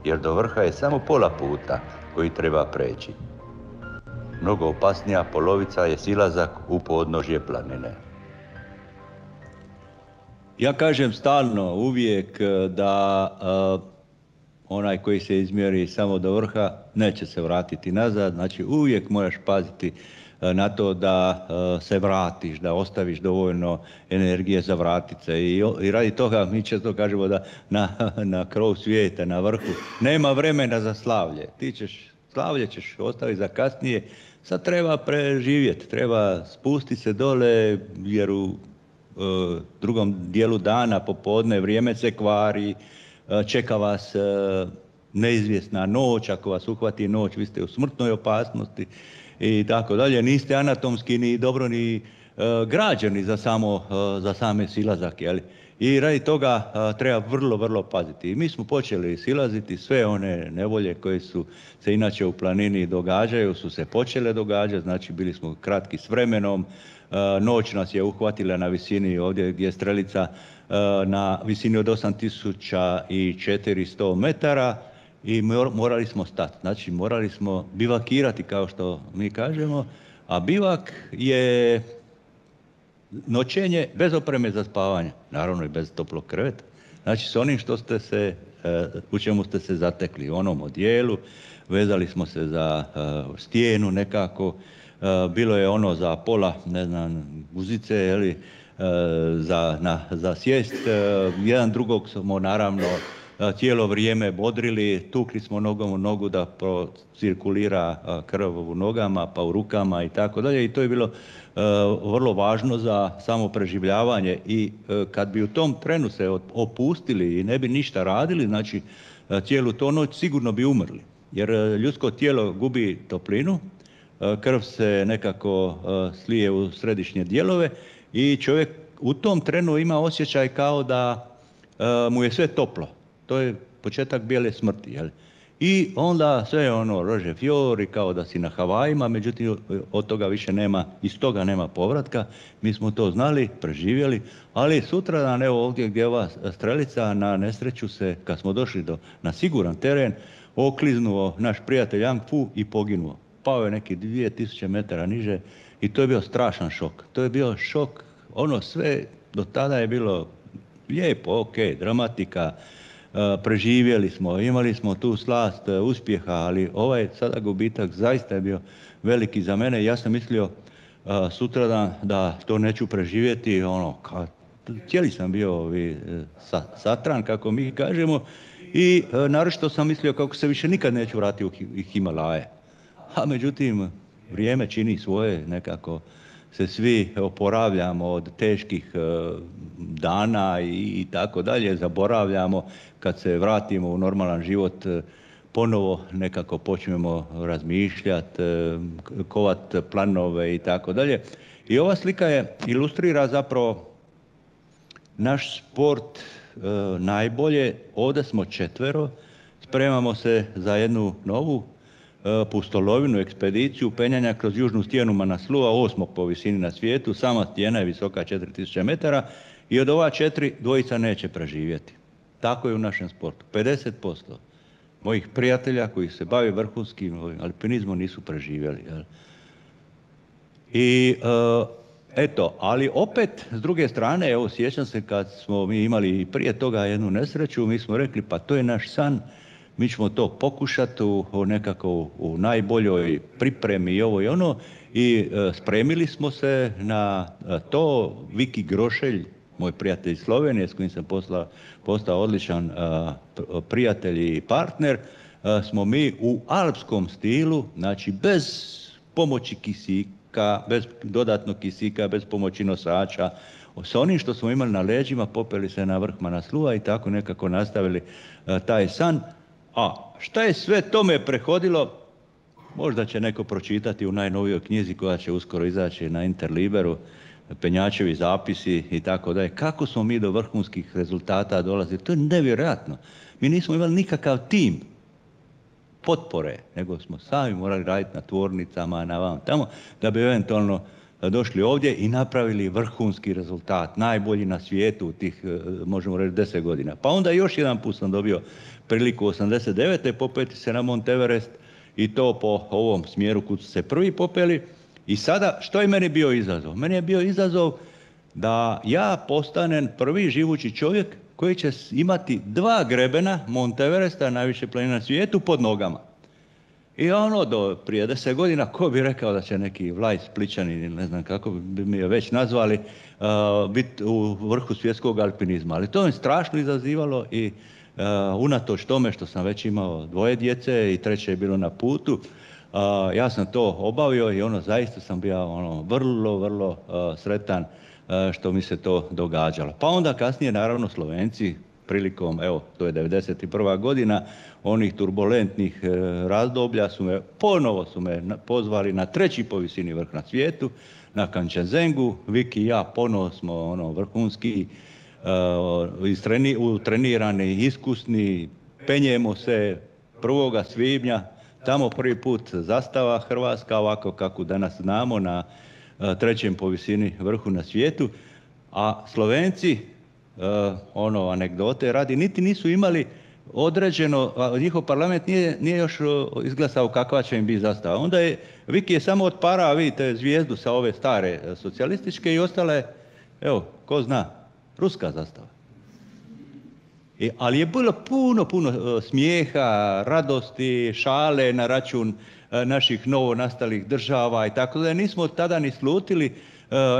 jer do vrha je samo pola puta koji treba preći. Mnogo opasnija polovica je silazak u podnožje planine. Ja kažem stalno, uvijek, da uh, onaj koji se izmjeri samo do vrha neće se vratiti nazad, znači uvijek moraš paziti uh, na to da uh, se vratiš, da ostaviš dovoljno energije za vratit se. I, i radi toga mi često kažemo da na, na krov svijeta, na vrhu, nema vremena za slavlje. Ti ćeš, slavlje ćeš ostaviti za kasnije, sad treba preživjeti, treba spustiti se dole jer u Uh, drugom dijelu dana, popodne, vrijeme se kvari, uh, čeka vas uh, neizvjesna noć, ako vas uhvati noć, vi ste u smrtnoj opasnosti i tako dalje. Niste anatomski ni dobro ni uh, građeni za, samo, uh, za same silazak, jeli? I radi toga uh, treba vrlo, vrlo paziti. I mi smo počeli silaziti, sve one nevolje koje su se inače u planini događaju, su se počele događati, znači bili smo kratki s vremenom. Noć nas je uhvatila na visini ovdje gdje je strelica na visini od osam tisuća četiristo metara i morali smo stati. Znači morali smo bivakirati kao što mi kažemo, a bivak je noćenje bez opreme za spavanje, naravno i bez toplog kreveta. Znači s onim što ste se, u čemu ste se zatekli, u onom odijelu, vezali smo se za stijenu nekako. Bilo je ono za pola, ne znam, guzice, jeli, za, na, za sjest. Jedan drugog smo naravno cijelo vrijeme bodrili, tukli smo nogom u nogu da procirkulira krv u nogama, pa u rukama i tako dalje. I to je bilo vrlo važno za samo preživljavanje. I kad bi u tom trenu se opustili i ne bi ništa radili, znači cijelu to noć sigurno bi umrli. Jer ljudsko tijelo gubi toplinu, krv se nekako slije u središnje dijelove i čovjek u tom trenu ima osjećaj kao da mu je sve toplo. To je početak bijele smrti. Jel? I onda sve ono rože fiori kao da si na Havajima, međutim od toga više nema, iz toga nema povratka. Mi smo to znali, preživjeli, ali sutradan evo ovdje gdje je ova strelica, na nesreću se, kad smo došli do, na siguran teren, okliznuo naš prijatelj Yang Fu i poginuo. Pao je neki dvije tisuće metara niže i to je bio strašan šok. To je bio šok, ono sve do tada je bilo lijepo, ok, dramatika, uh, preživjeli smo, imali smo tu slast uh, uspjeha, ali ovaj sada gubitak zaista je bio veliki za mene. Ja sam mislio uh, sutradan da to neću preživjeti, ono, ka, cijeli sam bio ovi, sa, satran, kako mi kažemo, i uh, naročito sam mislio kako se više nikad neću vratiti u Himalaje. A međutim, vrijeme čini svoje, nekako se svi oporavljamo od teških dana i tako dalje, zaboravljamo, kad se vratimo u normalan život, ponovo nekako počnemo razmišljati, kovat planove i tako dalje. I ova slika je ilustrira zapravo naš sport najbolje. Ovdje smo četvero, spremamo se za jednu novu pustolovinu, ekspediciju penjanja kroz južnu stijenu Manaslua, osmog po visini na svijetu. Sama stijena je visoka četiri tisuće metara i od ova četiri dvojica neće preživjeti. Tako je u našem sportu. pedeset posto mojih prijatelja koji se bave vrhunskim alpinizmom nisu preživjeli. Jel? I uh, eto, ali opet s druge strane, evo sjećam se kad smo mi imali prije toga jednu nesreću, mi smo rekli pa to je naš san, mi ćemo to pokušati u, u nekako u, u najboljoj pripremi i ovo i ono i uh, spremili smo se na uh, to. Viki Grošelj, moj prijatelj iz Slovenije s kojim sam posla, postao odličan uh, prijatelj i partner, uh, smo mi u alpskom stilu, znači bez pomoći kisika, bez dodatnog kisika, bez pomoći nosača, sa onim što smo imali na leđima, popeli se na vrh Manaslua i tako nekako nastavili uh, taj san. A šta je sve tome prehodilo, možda će neko pročitati u najnovijoj knjizi koja će uskoro izaći na Interliberu, penjačevi zapisi i tako dalje. Kako smo mi do vrhunskih rezultata dolazili? To je nevjerojatno. Mi nismo imali nikakav tim potpore, nego smo sami morali raditi na tvornicama, na vam tamo, da bi eventualno došli ovdje i napravili vrhunski rezultat, najbolji na svijetu u tih, možemo reći, deset godina. Pa onda još jedan put sam dobio priliku osamdeset devete popeti se na Mont Everest i to po ovom smjeru kud su se prvi popeli. I sada, što je meni bio izazov? Meni je bio izazov da ja postanem prvi živući čovjek koji će imati dva grebena Mont Everesta, najviše planine na svijetu, pod nogama. I ono, do prije deset godina, ko bi rekao da će neki Vlaj Splićanin, ili ne znam kako bi mi je već nazvali, uh, biti u vrhu svjetskog alpinizma. Ali to je strašno izazivalo i uh, unatoč tome što sam već imao dvoje djece i treće je bilo na putu, uh, ja sam to obavio i ono, zaista sam bio ono, vrlo, vrlo uh, sretan uh, što mi se to događalo. Pa onda kasnije, naravno, Slovenci, prilikom, evo, to je devedeset prva godina, onih turbulentnih e, razdoblja su me, ponovo su me pozvali na treći po visini vrh na svijetu, na Kančenzengu. Viki i ja ponovo smo ono, vrhunski, e, istreni, utrenirani, iskusni, penjemo se prvoga svibnja, tamo prvi put zastava Hrvatska, ovako kako danas znamo, na e, trećem po visini vrhu na svijetu, a Slovenci, Uh, ono, anegdote radi, niti nisu imali određeno, a njihov parlament nije, nije još izglasao kakva će im biti zastava. Onda je, Viki je samo otparao, vidite, zvijezdu sa ove stare socijalističke i ostale, evo, ko zna, ruska zastava. I, ali je bilo puno, puno uh, smijeha, radosti, šale na račun uh, naših novo nastalih država i tako da nismo tada ni slutili,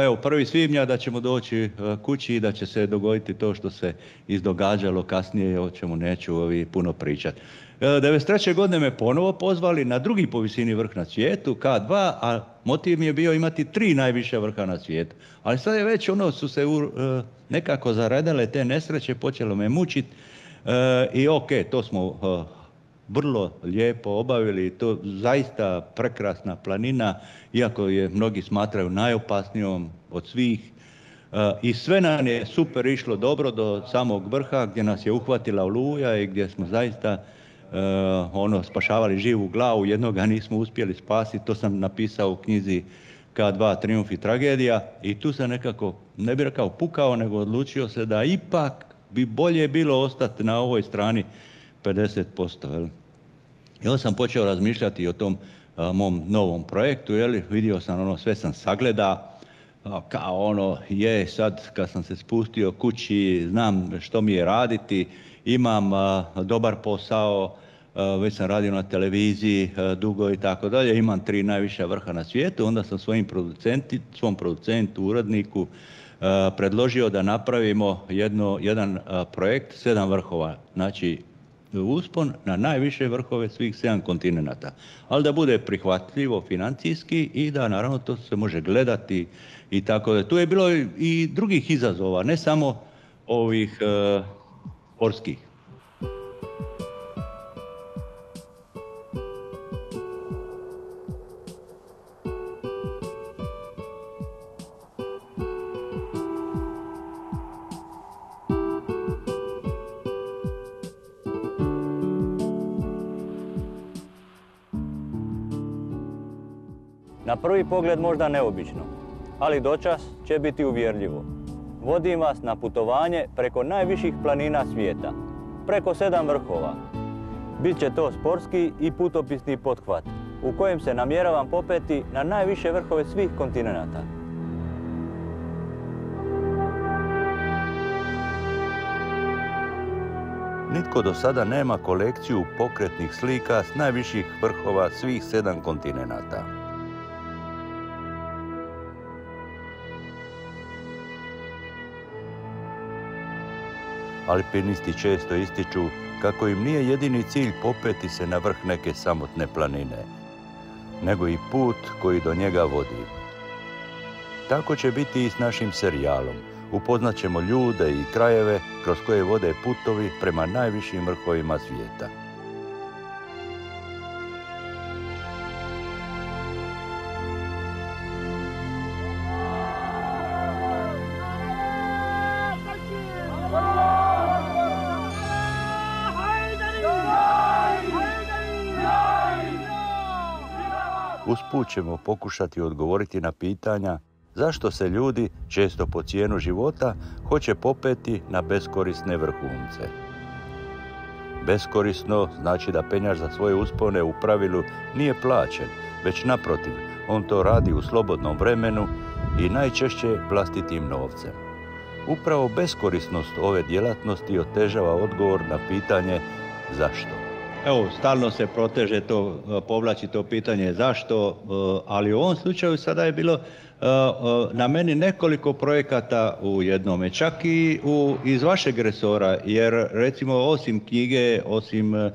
evo, prvi svibnja da ćemo doći kući i da će se dogoditi to što se izdogađalo kasnije, o čemu neću ovi puno pričati. devedeset treće godine me ponovo pozvali na drugi po visini vrh na svijetu, K dva, a motiv mi je bio imati tri najviše vrha na svijetu. Ali sad je već ono su se u, nekako zaredale te nesreće, počelo me mučiti i ok, to smo vrlo lijepo obavili, to zaista prekrasna planina, iako je mnogi smatraju najopasnijom od svih. I sve nam je super išlo dobro do samog vrha gdje nas je uhvatila oluja i gdje smo zaista ono, spašavali živu glavu, jednoga nismo uspjeli spasiti, to sam napisao u knjizi K dva Trijumf i tragedija i tu sam nekako, ne bih rekao pukao, nego odlučio se da ipak bi bolje bilo ostati na ovoj strani pedeset posto. Jel? I onda sam počeo razmišljati o tom a, mom novom projektu, jel? Vidio sam ono, sve sam sagleda, a, kao ono, je sad kad sam se spustio kući, znam što mi je raditi, imam a, dobar posao, a, već sam radio na televiziji a, dugo i tako dalje, imam tri najviša vrha na svijetu, onda sam svojim producenti, svom producentu, uredniku, a, predložio da napravimo jedno, jedan a, projekt, sedam vrhova, znači uspon na najviše vrhove svih sedam kontinenata. Ali da bude prihvatljivo financijski i da naravno to se može gledati i tako da. Tu je bilo i drugih izazova, ne samo ovih uh, sportskih. Na prvi pogled možda neobično, ali dočas će biti uvjerljivo. Vodim vas na putovanje preko najviših planina svijeta, preko sedam vrhova. Biće to sportski i putopisni pothvat, u kojem se namjeravam popeti na najviše vrhove svih kontinenata. Nitko do sada nema kolekciju pokretnih slika s najviših vrhova svih sedam kontinenata. Alpinisti često ističu kako im nije jedini cilj popeti se na vrh neke samotne planine, nego i put koji do njega vodi. Tako će biti i s našim serijalom. Upoznat ćemo ljude i krajeve kroz koje vode putovi prema najvišim vrhovima svijeta. Usput ćemo pokušati odgovoriti na pitanja zašto se ljudi, često po cijenu života, hoće popeti na beskorisne vrhunce. Beskorisno znači da penjač za svoje uspone u pravilu nije plaćen, već naprotiv, on to radi u slobodnom vremenu i najčešće vlastitim novcem. Upravo beskorisnost ove djelatnosti otežava odgovor na pitanje zašto. Evo, stalno se proteže to, povlači to pitanje zašto, ali u ovom slučaju sada je bilo na meni nekoliko projekata u jednome, čak i u, iz vašeg resora, jer recimo osim knjige, osim uh,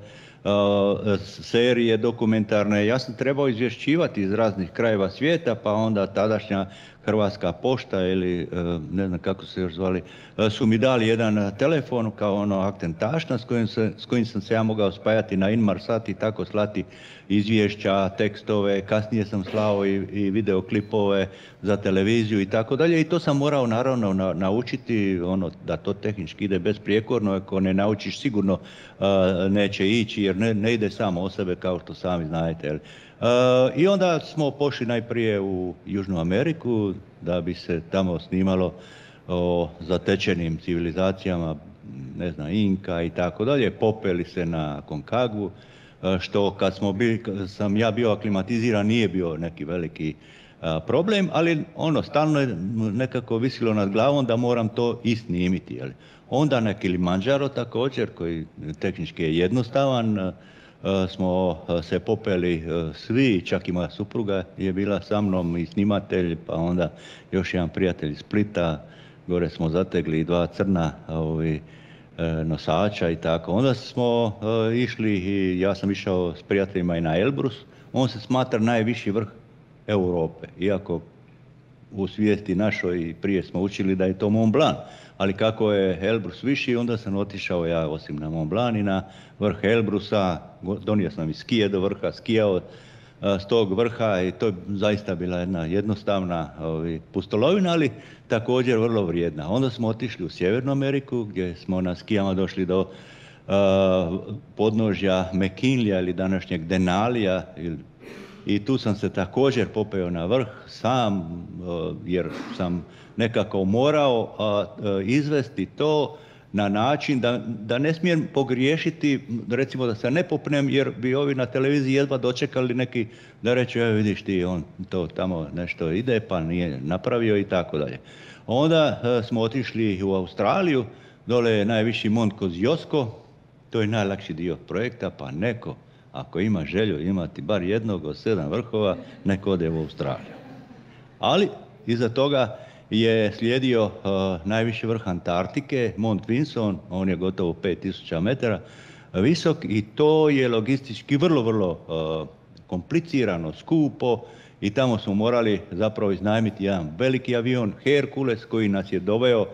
serije dokumentarne, ja sam trebao izvješćivati iz raznih krajeva svijeta, pa onda tadašnja Hrvatska pošta ili ne znam kako se još zvali, su mi dali jedan telefon kao ono aktentašna s kojim, se, s kojim sam se ja mogao spajati na Inmarsat i tako slati izvješća, tekstove, kasnije sam slao i, i videoklipove za televiziju i tako dalje i to sam morao naravno na, naučiti ono, da to tehnički ide besprijekorno, ako ne naučiš sigurno uh, neće ići jer ne, ne ide samo o sebe kao što sami znajete. Jel? Uh, I onda smo pošli najprije u Južnu Ameriku da bi se tamo snimalo o zatečenim civilizacijama, ne znam, Inka i tako dalje, popeli se na Konkagvu, uh, što kad smo bili, kad sam ja bio aklimatiziran nije bio neki veliki uh, problem, ali ono, stalno je nekako visilo nad glavom da moram to i snimiti. Jel? Onda na Kilimanjaro također, koji tehnički je jednostavan, uh, smo se popeli svi, čak i moja supruga je bila sa mnom i snimatelj, pa onda još jedan prijatelj iz Splita, gore smo zategli dva crna ovi, nosača i tako. Onda smo išli i ja sam išao s prijateljima i na Elbrus, on se smatra najviši vrh Europe, iako u svijesti našoj prije smo učili da je to Mont Blanc, ali kako je Elbrus viši, onda sam otišao ja osim na Mont Blanc i na vrh Elbrusa, donio sam i skije do vrha, skijao s tog vrha i to je zaista bila jedna jednostavna ovi, pustolovina, ali također vrlo vrijedna. Onda smo otišli u Sjevernu Ameriku gdje smo na skijama došli do uh, podnožja McKinleya ili današnjeg Denalija ili i tu sam se također popeo na vrh sam, jer sam nekako morao izvesti to na način da, da ne smijem pogriješiti, recimo da se ne popnem jer bi ovi na televiziji jedva dočekali neki da reću, evo vidiš ti, on to tamo nešto ide pa nije napravio i tako dalje. Onda smo otišli u Australiju, dole je najviši Mont Kosciuszko, to je najlakši dio projekta, pa neko ako ima želju imati bar jednog od sedam vrhova, neko ode u Australiju. Ali iza toga je slijedio uh, najviši vrh Antarktike, Mont Vinson, on je gotovo pet tisuća metara visok i to je logistički vrlo, vrlo uh, komplicirano, skupo i tamo smo morali zapravo iznajmiti jedan veliki avion, Hercules, koji nas je doveo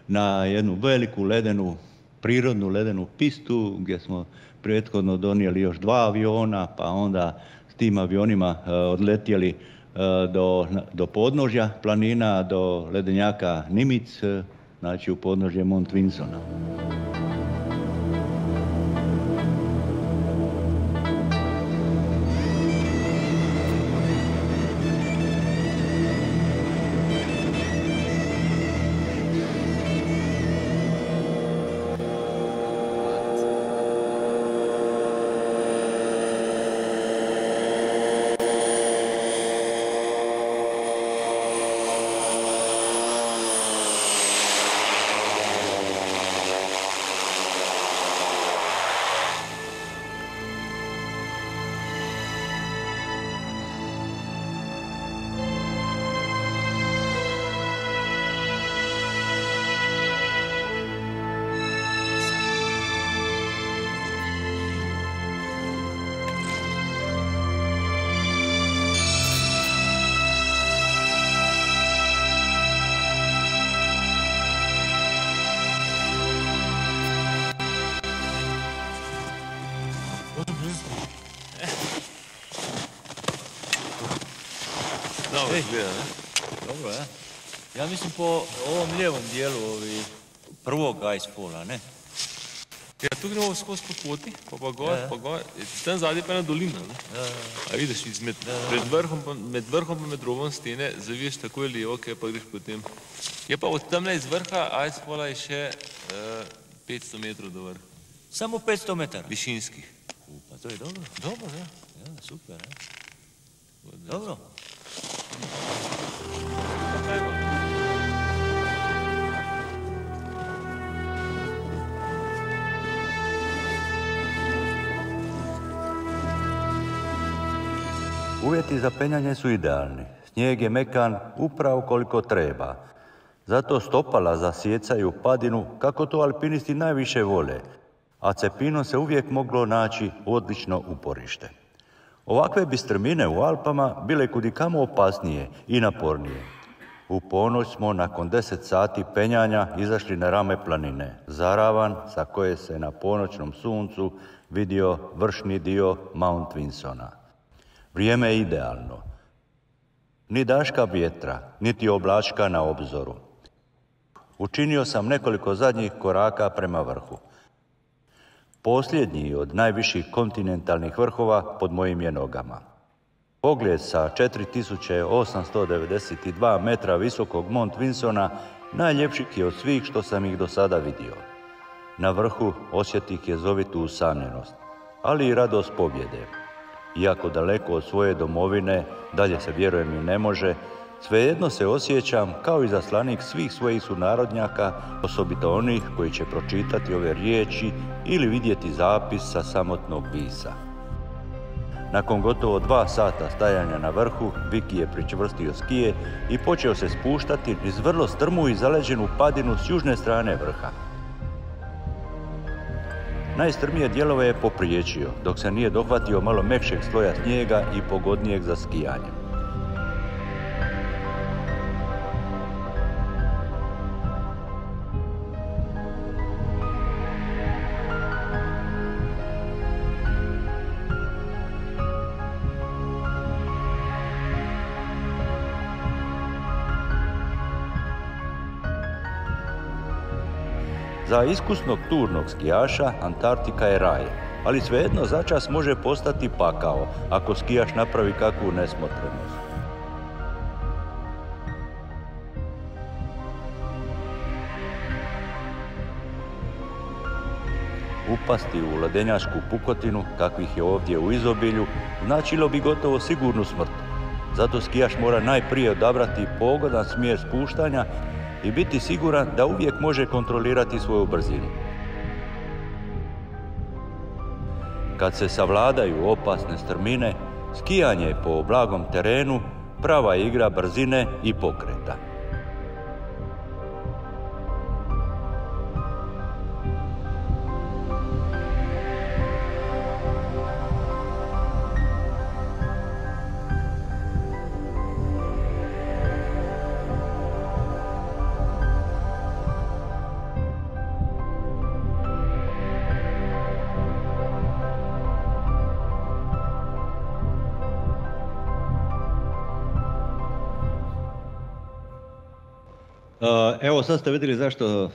na jednu veliku ledenu, prirodnu ledenu pistu gdje smo prethodno donijeli još dva aviona, pa onda s tim avionima uh, odletjeli uh, do, do podnožja planina, do ledenjaka Nimitz, uh, znači u podnožje Mont Vinsona. Ej, gleda, ne? Dobro, ja? Ja mislim po ovom lijevom dijelu ovi prvog Icefalla, ne? Ja, tu gremo skozi po poti, pa pa gor, Ja, ja. pa gor. Tam zadnje pa je ena dolina, ne? Ja, ja. A vidiš, izmed, pred vrhom, pa, med vrhom pa med robom stene zaviješ takoj levo, kaj pa greš potem. Je pa od tamle iz vrha Icefalla je še uh, petsto metrov do vrha. Samo petsto metara? Višinskih. U, pa to je dobro. Dobro, ja. Ja, super, ja. Dobro. Uvjeti za penjanje su idealni. Snijeg je mekan upravo koliko treba. Zato stopala zasjecaju padinu kako to alpinisti najviše vole, a cepinom se uvijek moglo naći odlično uporište. Ovakve bi strmine u Alpama bile kudikamo opasnije i napornije. U ponoć smo nakon deset sati penjanja izašli na rame planine, Zaravan, sa koje se na ponoćnom suncu vidio vršni dio Mount Winsona. Vrijeme je idealno. Ni daška vjetra, niti oblačka na obzoru. Učinio sam nekoliko zadnjih koraka prema vrhu. Posljednji od najviših kontinentalnih vrhova pod mojim je nogama. Pogled sa četiri tisuće osamsto devedeset dva metra visokog Mount Winsona najljepši je od svih što sam ih do sada vidio. Na vrhu osjetih jezovitu usamljenost, ali i radost pobjede. Iako daleko od svoje domovine, dalje se vjerujem i ne može, svejedno se osjećam kao izaslanik svih svojih sunarodnjaka, osobito onih koji će pročitati ove riječi ili vidjeti zapis sa samotnog pisa. Nakon gotovo dva sata stajanja na vrhu, Viki je pričvrstio skije i počeo se spuštati niz vrlo strmu i zaleđenu padinu s južne strane vrha. Najstrmije dijelove je popriječio, dok se nije dohvatio malo mekšeg sloja snijega i pogodnijeg za skijanje. Za iskusnog turnog skijaša Antarktika je raj, ali svejedno začas može postati pakao ako skijaš napravi kakvu nesmotrenost. Upasti u ledenjačku pukotinu, kakvih je ovdje u izobilju, značilo bi gotovo sigurnu smrt. Zato skijaš mora najprije odabrati pogodan smjer spuštanja i biti siguran da uvijek može kontrolirati svoju brzinu. Kad se savladaju opasne strmine, skijanje po blagom terenu prava igra brzine i pokreta. Evo sad ste vidjeli zašto uh,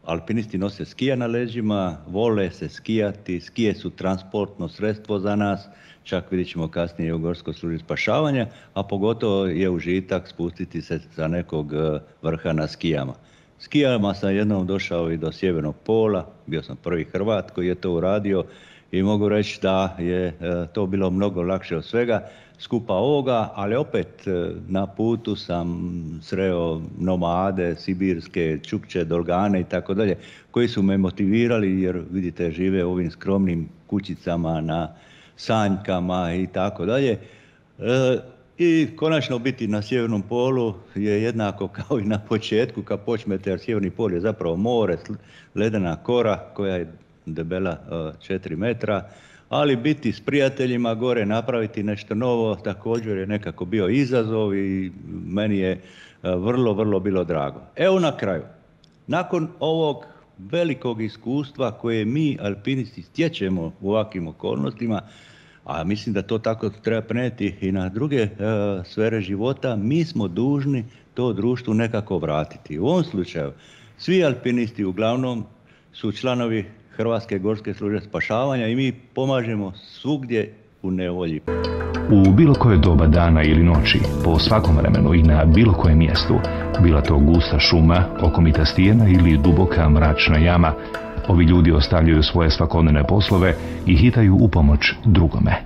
alpinisti nose skija na leđima, vole se skijati, skije su transportno sredstvo za nas, čak vidjet ćemo kasnije u gorskoj službi spašavanja, a pogotovo je užitak spustiti se sa nekog uh, vrha na skijama. Skijama sam jednom došao i do Sjevernog pola, bio sam prvi Hrvat koji je to uradio i mogu reći da je uh, to bilo mnogo lakše od svega skupa ovoga, ali opet na putu sam sreo nomade, sibirske, čukče, dolgane i tako dalje, koji su me motivirali jer vidite žive u ovim skromnim kućicama na sanjkama i tako dalje. I konačno biti na Sjevernom polu je jednako kao i na početku kad počnete, jer Sjeverni pol je zapravo more, ledena kora koja je debela četiri metra, ali biti s prijateljima gore, napraviti nešto novo, također je nekako bio izazov i meni je vrlo, vrlo bilo drago. Evo na kraju, nakon ovog velikog iskustva koje mi alpinisti stječemo u ovakvim okolnostima, a mislim da to tako treba prenijeti i na druge uh, sfere života, mi smo dužni to društvu nekako vratiti. U ovom slučaju, svi alpinisti uglavnom su članovi Hrvatske gorske službe spašavanja i mi pomažemo svugdje u nevolji. U bilo koje doba dana ili noći, po svakom vremenu i na bilo kojem mjestu, bila to gusta šuma, okomita stijena ili duboka mračna jama, ovi ljudi ostavljaju svoje svakodnevne poslove i hitaju u pomoć drugome.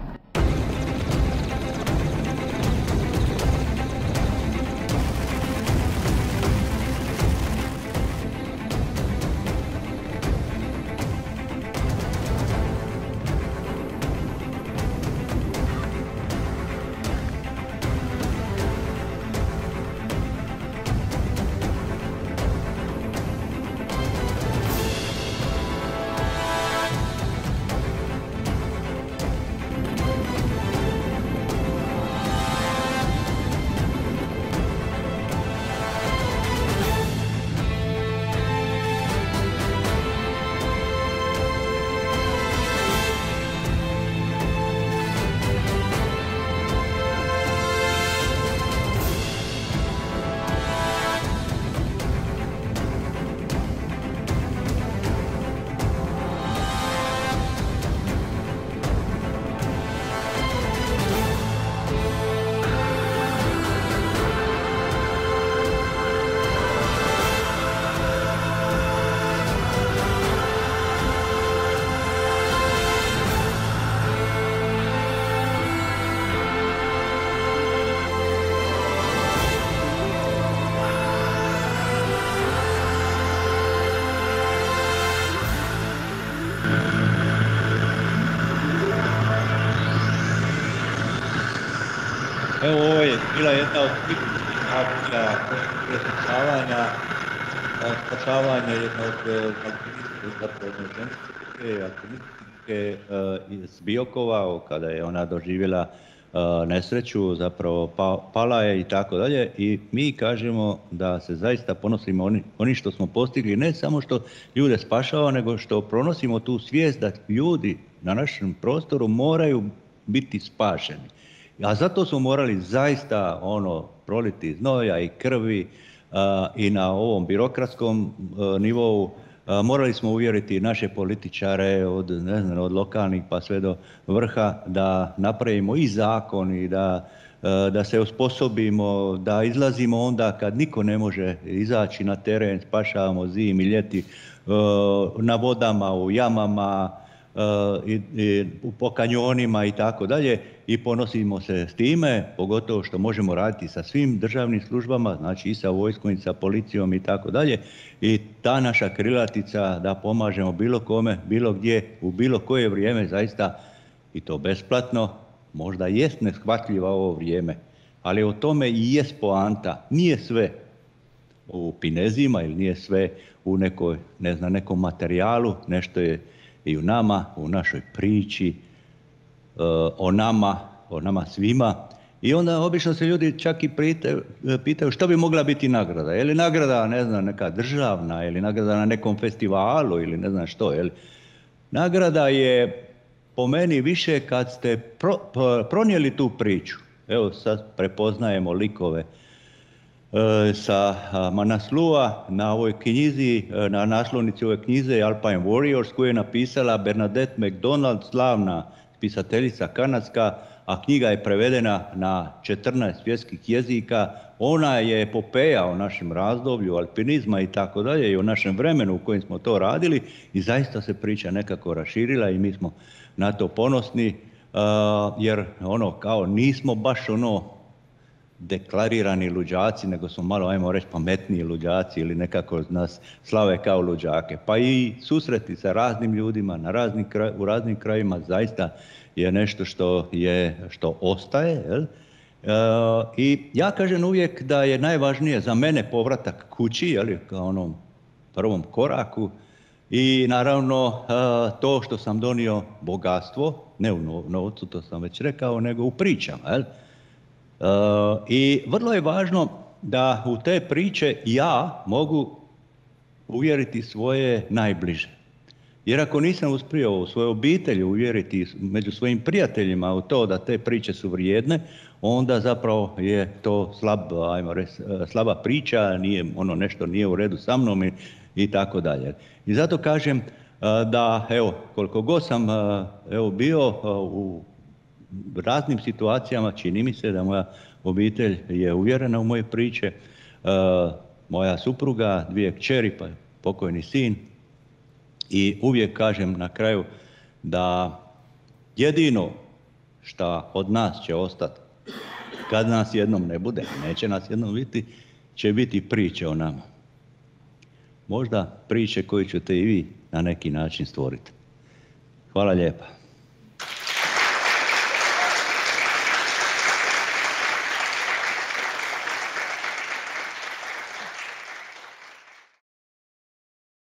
Evo, ovo je bila jedna od bitnih akcija spašavanja. Spašavanje je jedna od alpinističke, zapravo ženske alpinističke iz Biokova, kada je ona doživjela nesreću, zapravo pala je i tako dalje. I mi kažemo da se zaista ponosimo oni, oni što smo postigli, ne samo što ljude spašava, nego što pronosimo tu svijest da ljudi na našem prostoru moraju biti spašeni. A zato smo morali zaista ono proliti znoja i krvi a, i na ovom birokratskom a, nivou. A, morali smo uvjeriti naše političare od, ne znam, od lokalnih pa sve do vrha da napravimo i zakon i da, a, da se osposobimo, da izlazimo onda kad niko ne može izaći na teren, spašavamo zimi, ljeti a, na vodama, u jamama, i, i po kanjonima i tako dalje, i ponosimo se s time, pogotovo što možemo raditi sa svim državnim službama, znači i sa vojskom i sa policijom i tako dalje, i ta naša krilatica da pomažemo bilo kome, bilo gdje, u bilo koje vrijeme, zaista, i to besplatno, možda jest neshvatljivo ovo vrijeme, ali o tome i jest poanta. Nije sve u pinezima ili nije sve u nekoj, ne znam, nekom materijalu, nešto je i u nama, u našoj priči, o nama, o nama svima. I onda obično se ljudi čak i pitaju, pitaju što bi mogla biti nagrada. Je li nagrada, ne znam, neka državna, ili nagrada na nekom festivalu, ili ne znam što. Je li. Nagrada je po meni više kad ste pro, pronijeli tu priču. Evo sad prepoznajemo likove sa Manaslua na ovoj knjizi, na naslovnici ove knjize Alpine Warriors, koju je napisala Bernadette McDonald, slavna pisateljica kanadska, a knjiga je prevedena na četrnaest svjetskih jezika. Ona je epopeja o našem razdoblju alpinizma i tako dalje, i o našem vremenu u kojem smo to radili, i zaista se priča nekako raširila i mi smo na to ponosni, jer ono kao nismo baš ono deklarirani luđaci, nego smo malo, ajmo reći, pametniji luđaci ili nekako nas slave kao luđake. Pa i susreti sa raznim ljudima na raznim kraj, u raznim krajima zaista je nešto što, je, što ostaje. Jel? E, I ja kažem uvijek da je najvažnije za mene povratak kući, jel, kao onom prvom koraku, i naravno e, to što sam donio bogatstvo, ne u novcu, to sam već rekao, nego u pričama. Jel? Uh, I vrlo je važno da u te priče ja mogu uvjeriti svoje najbliže. Jer ako nisam uspio u svojoj obitelji uvjeriti među svojim prijateljima u to da te priče su vrijedne, onda zapravo je to slab, ajmo reći, slaba priča, nije, ono nešto nije u redu sa mnom i, i tako dalje. I zato kažem da, evo, koliko god sam evo, bio u raznim situacijama, čini mi se da moja obitelj je uvjerena u moje priče, moja supruga, dvije kćeri, pa pokojni sin, i uvijek kažem na kraju da jedino šta od nas će ostati, kad nas jednom ne bude, neće nas jednom biti, će biti priče o nama. Možda priče koje ćete i vi na neki način stvoriti. Hvala lijepa.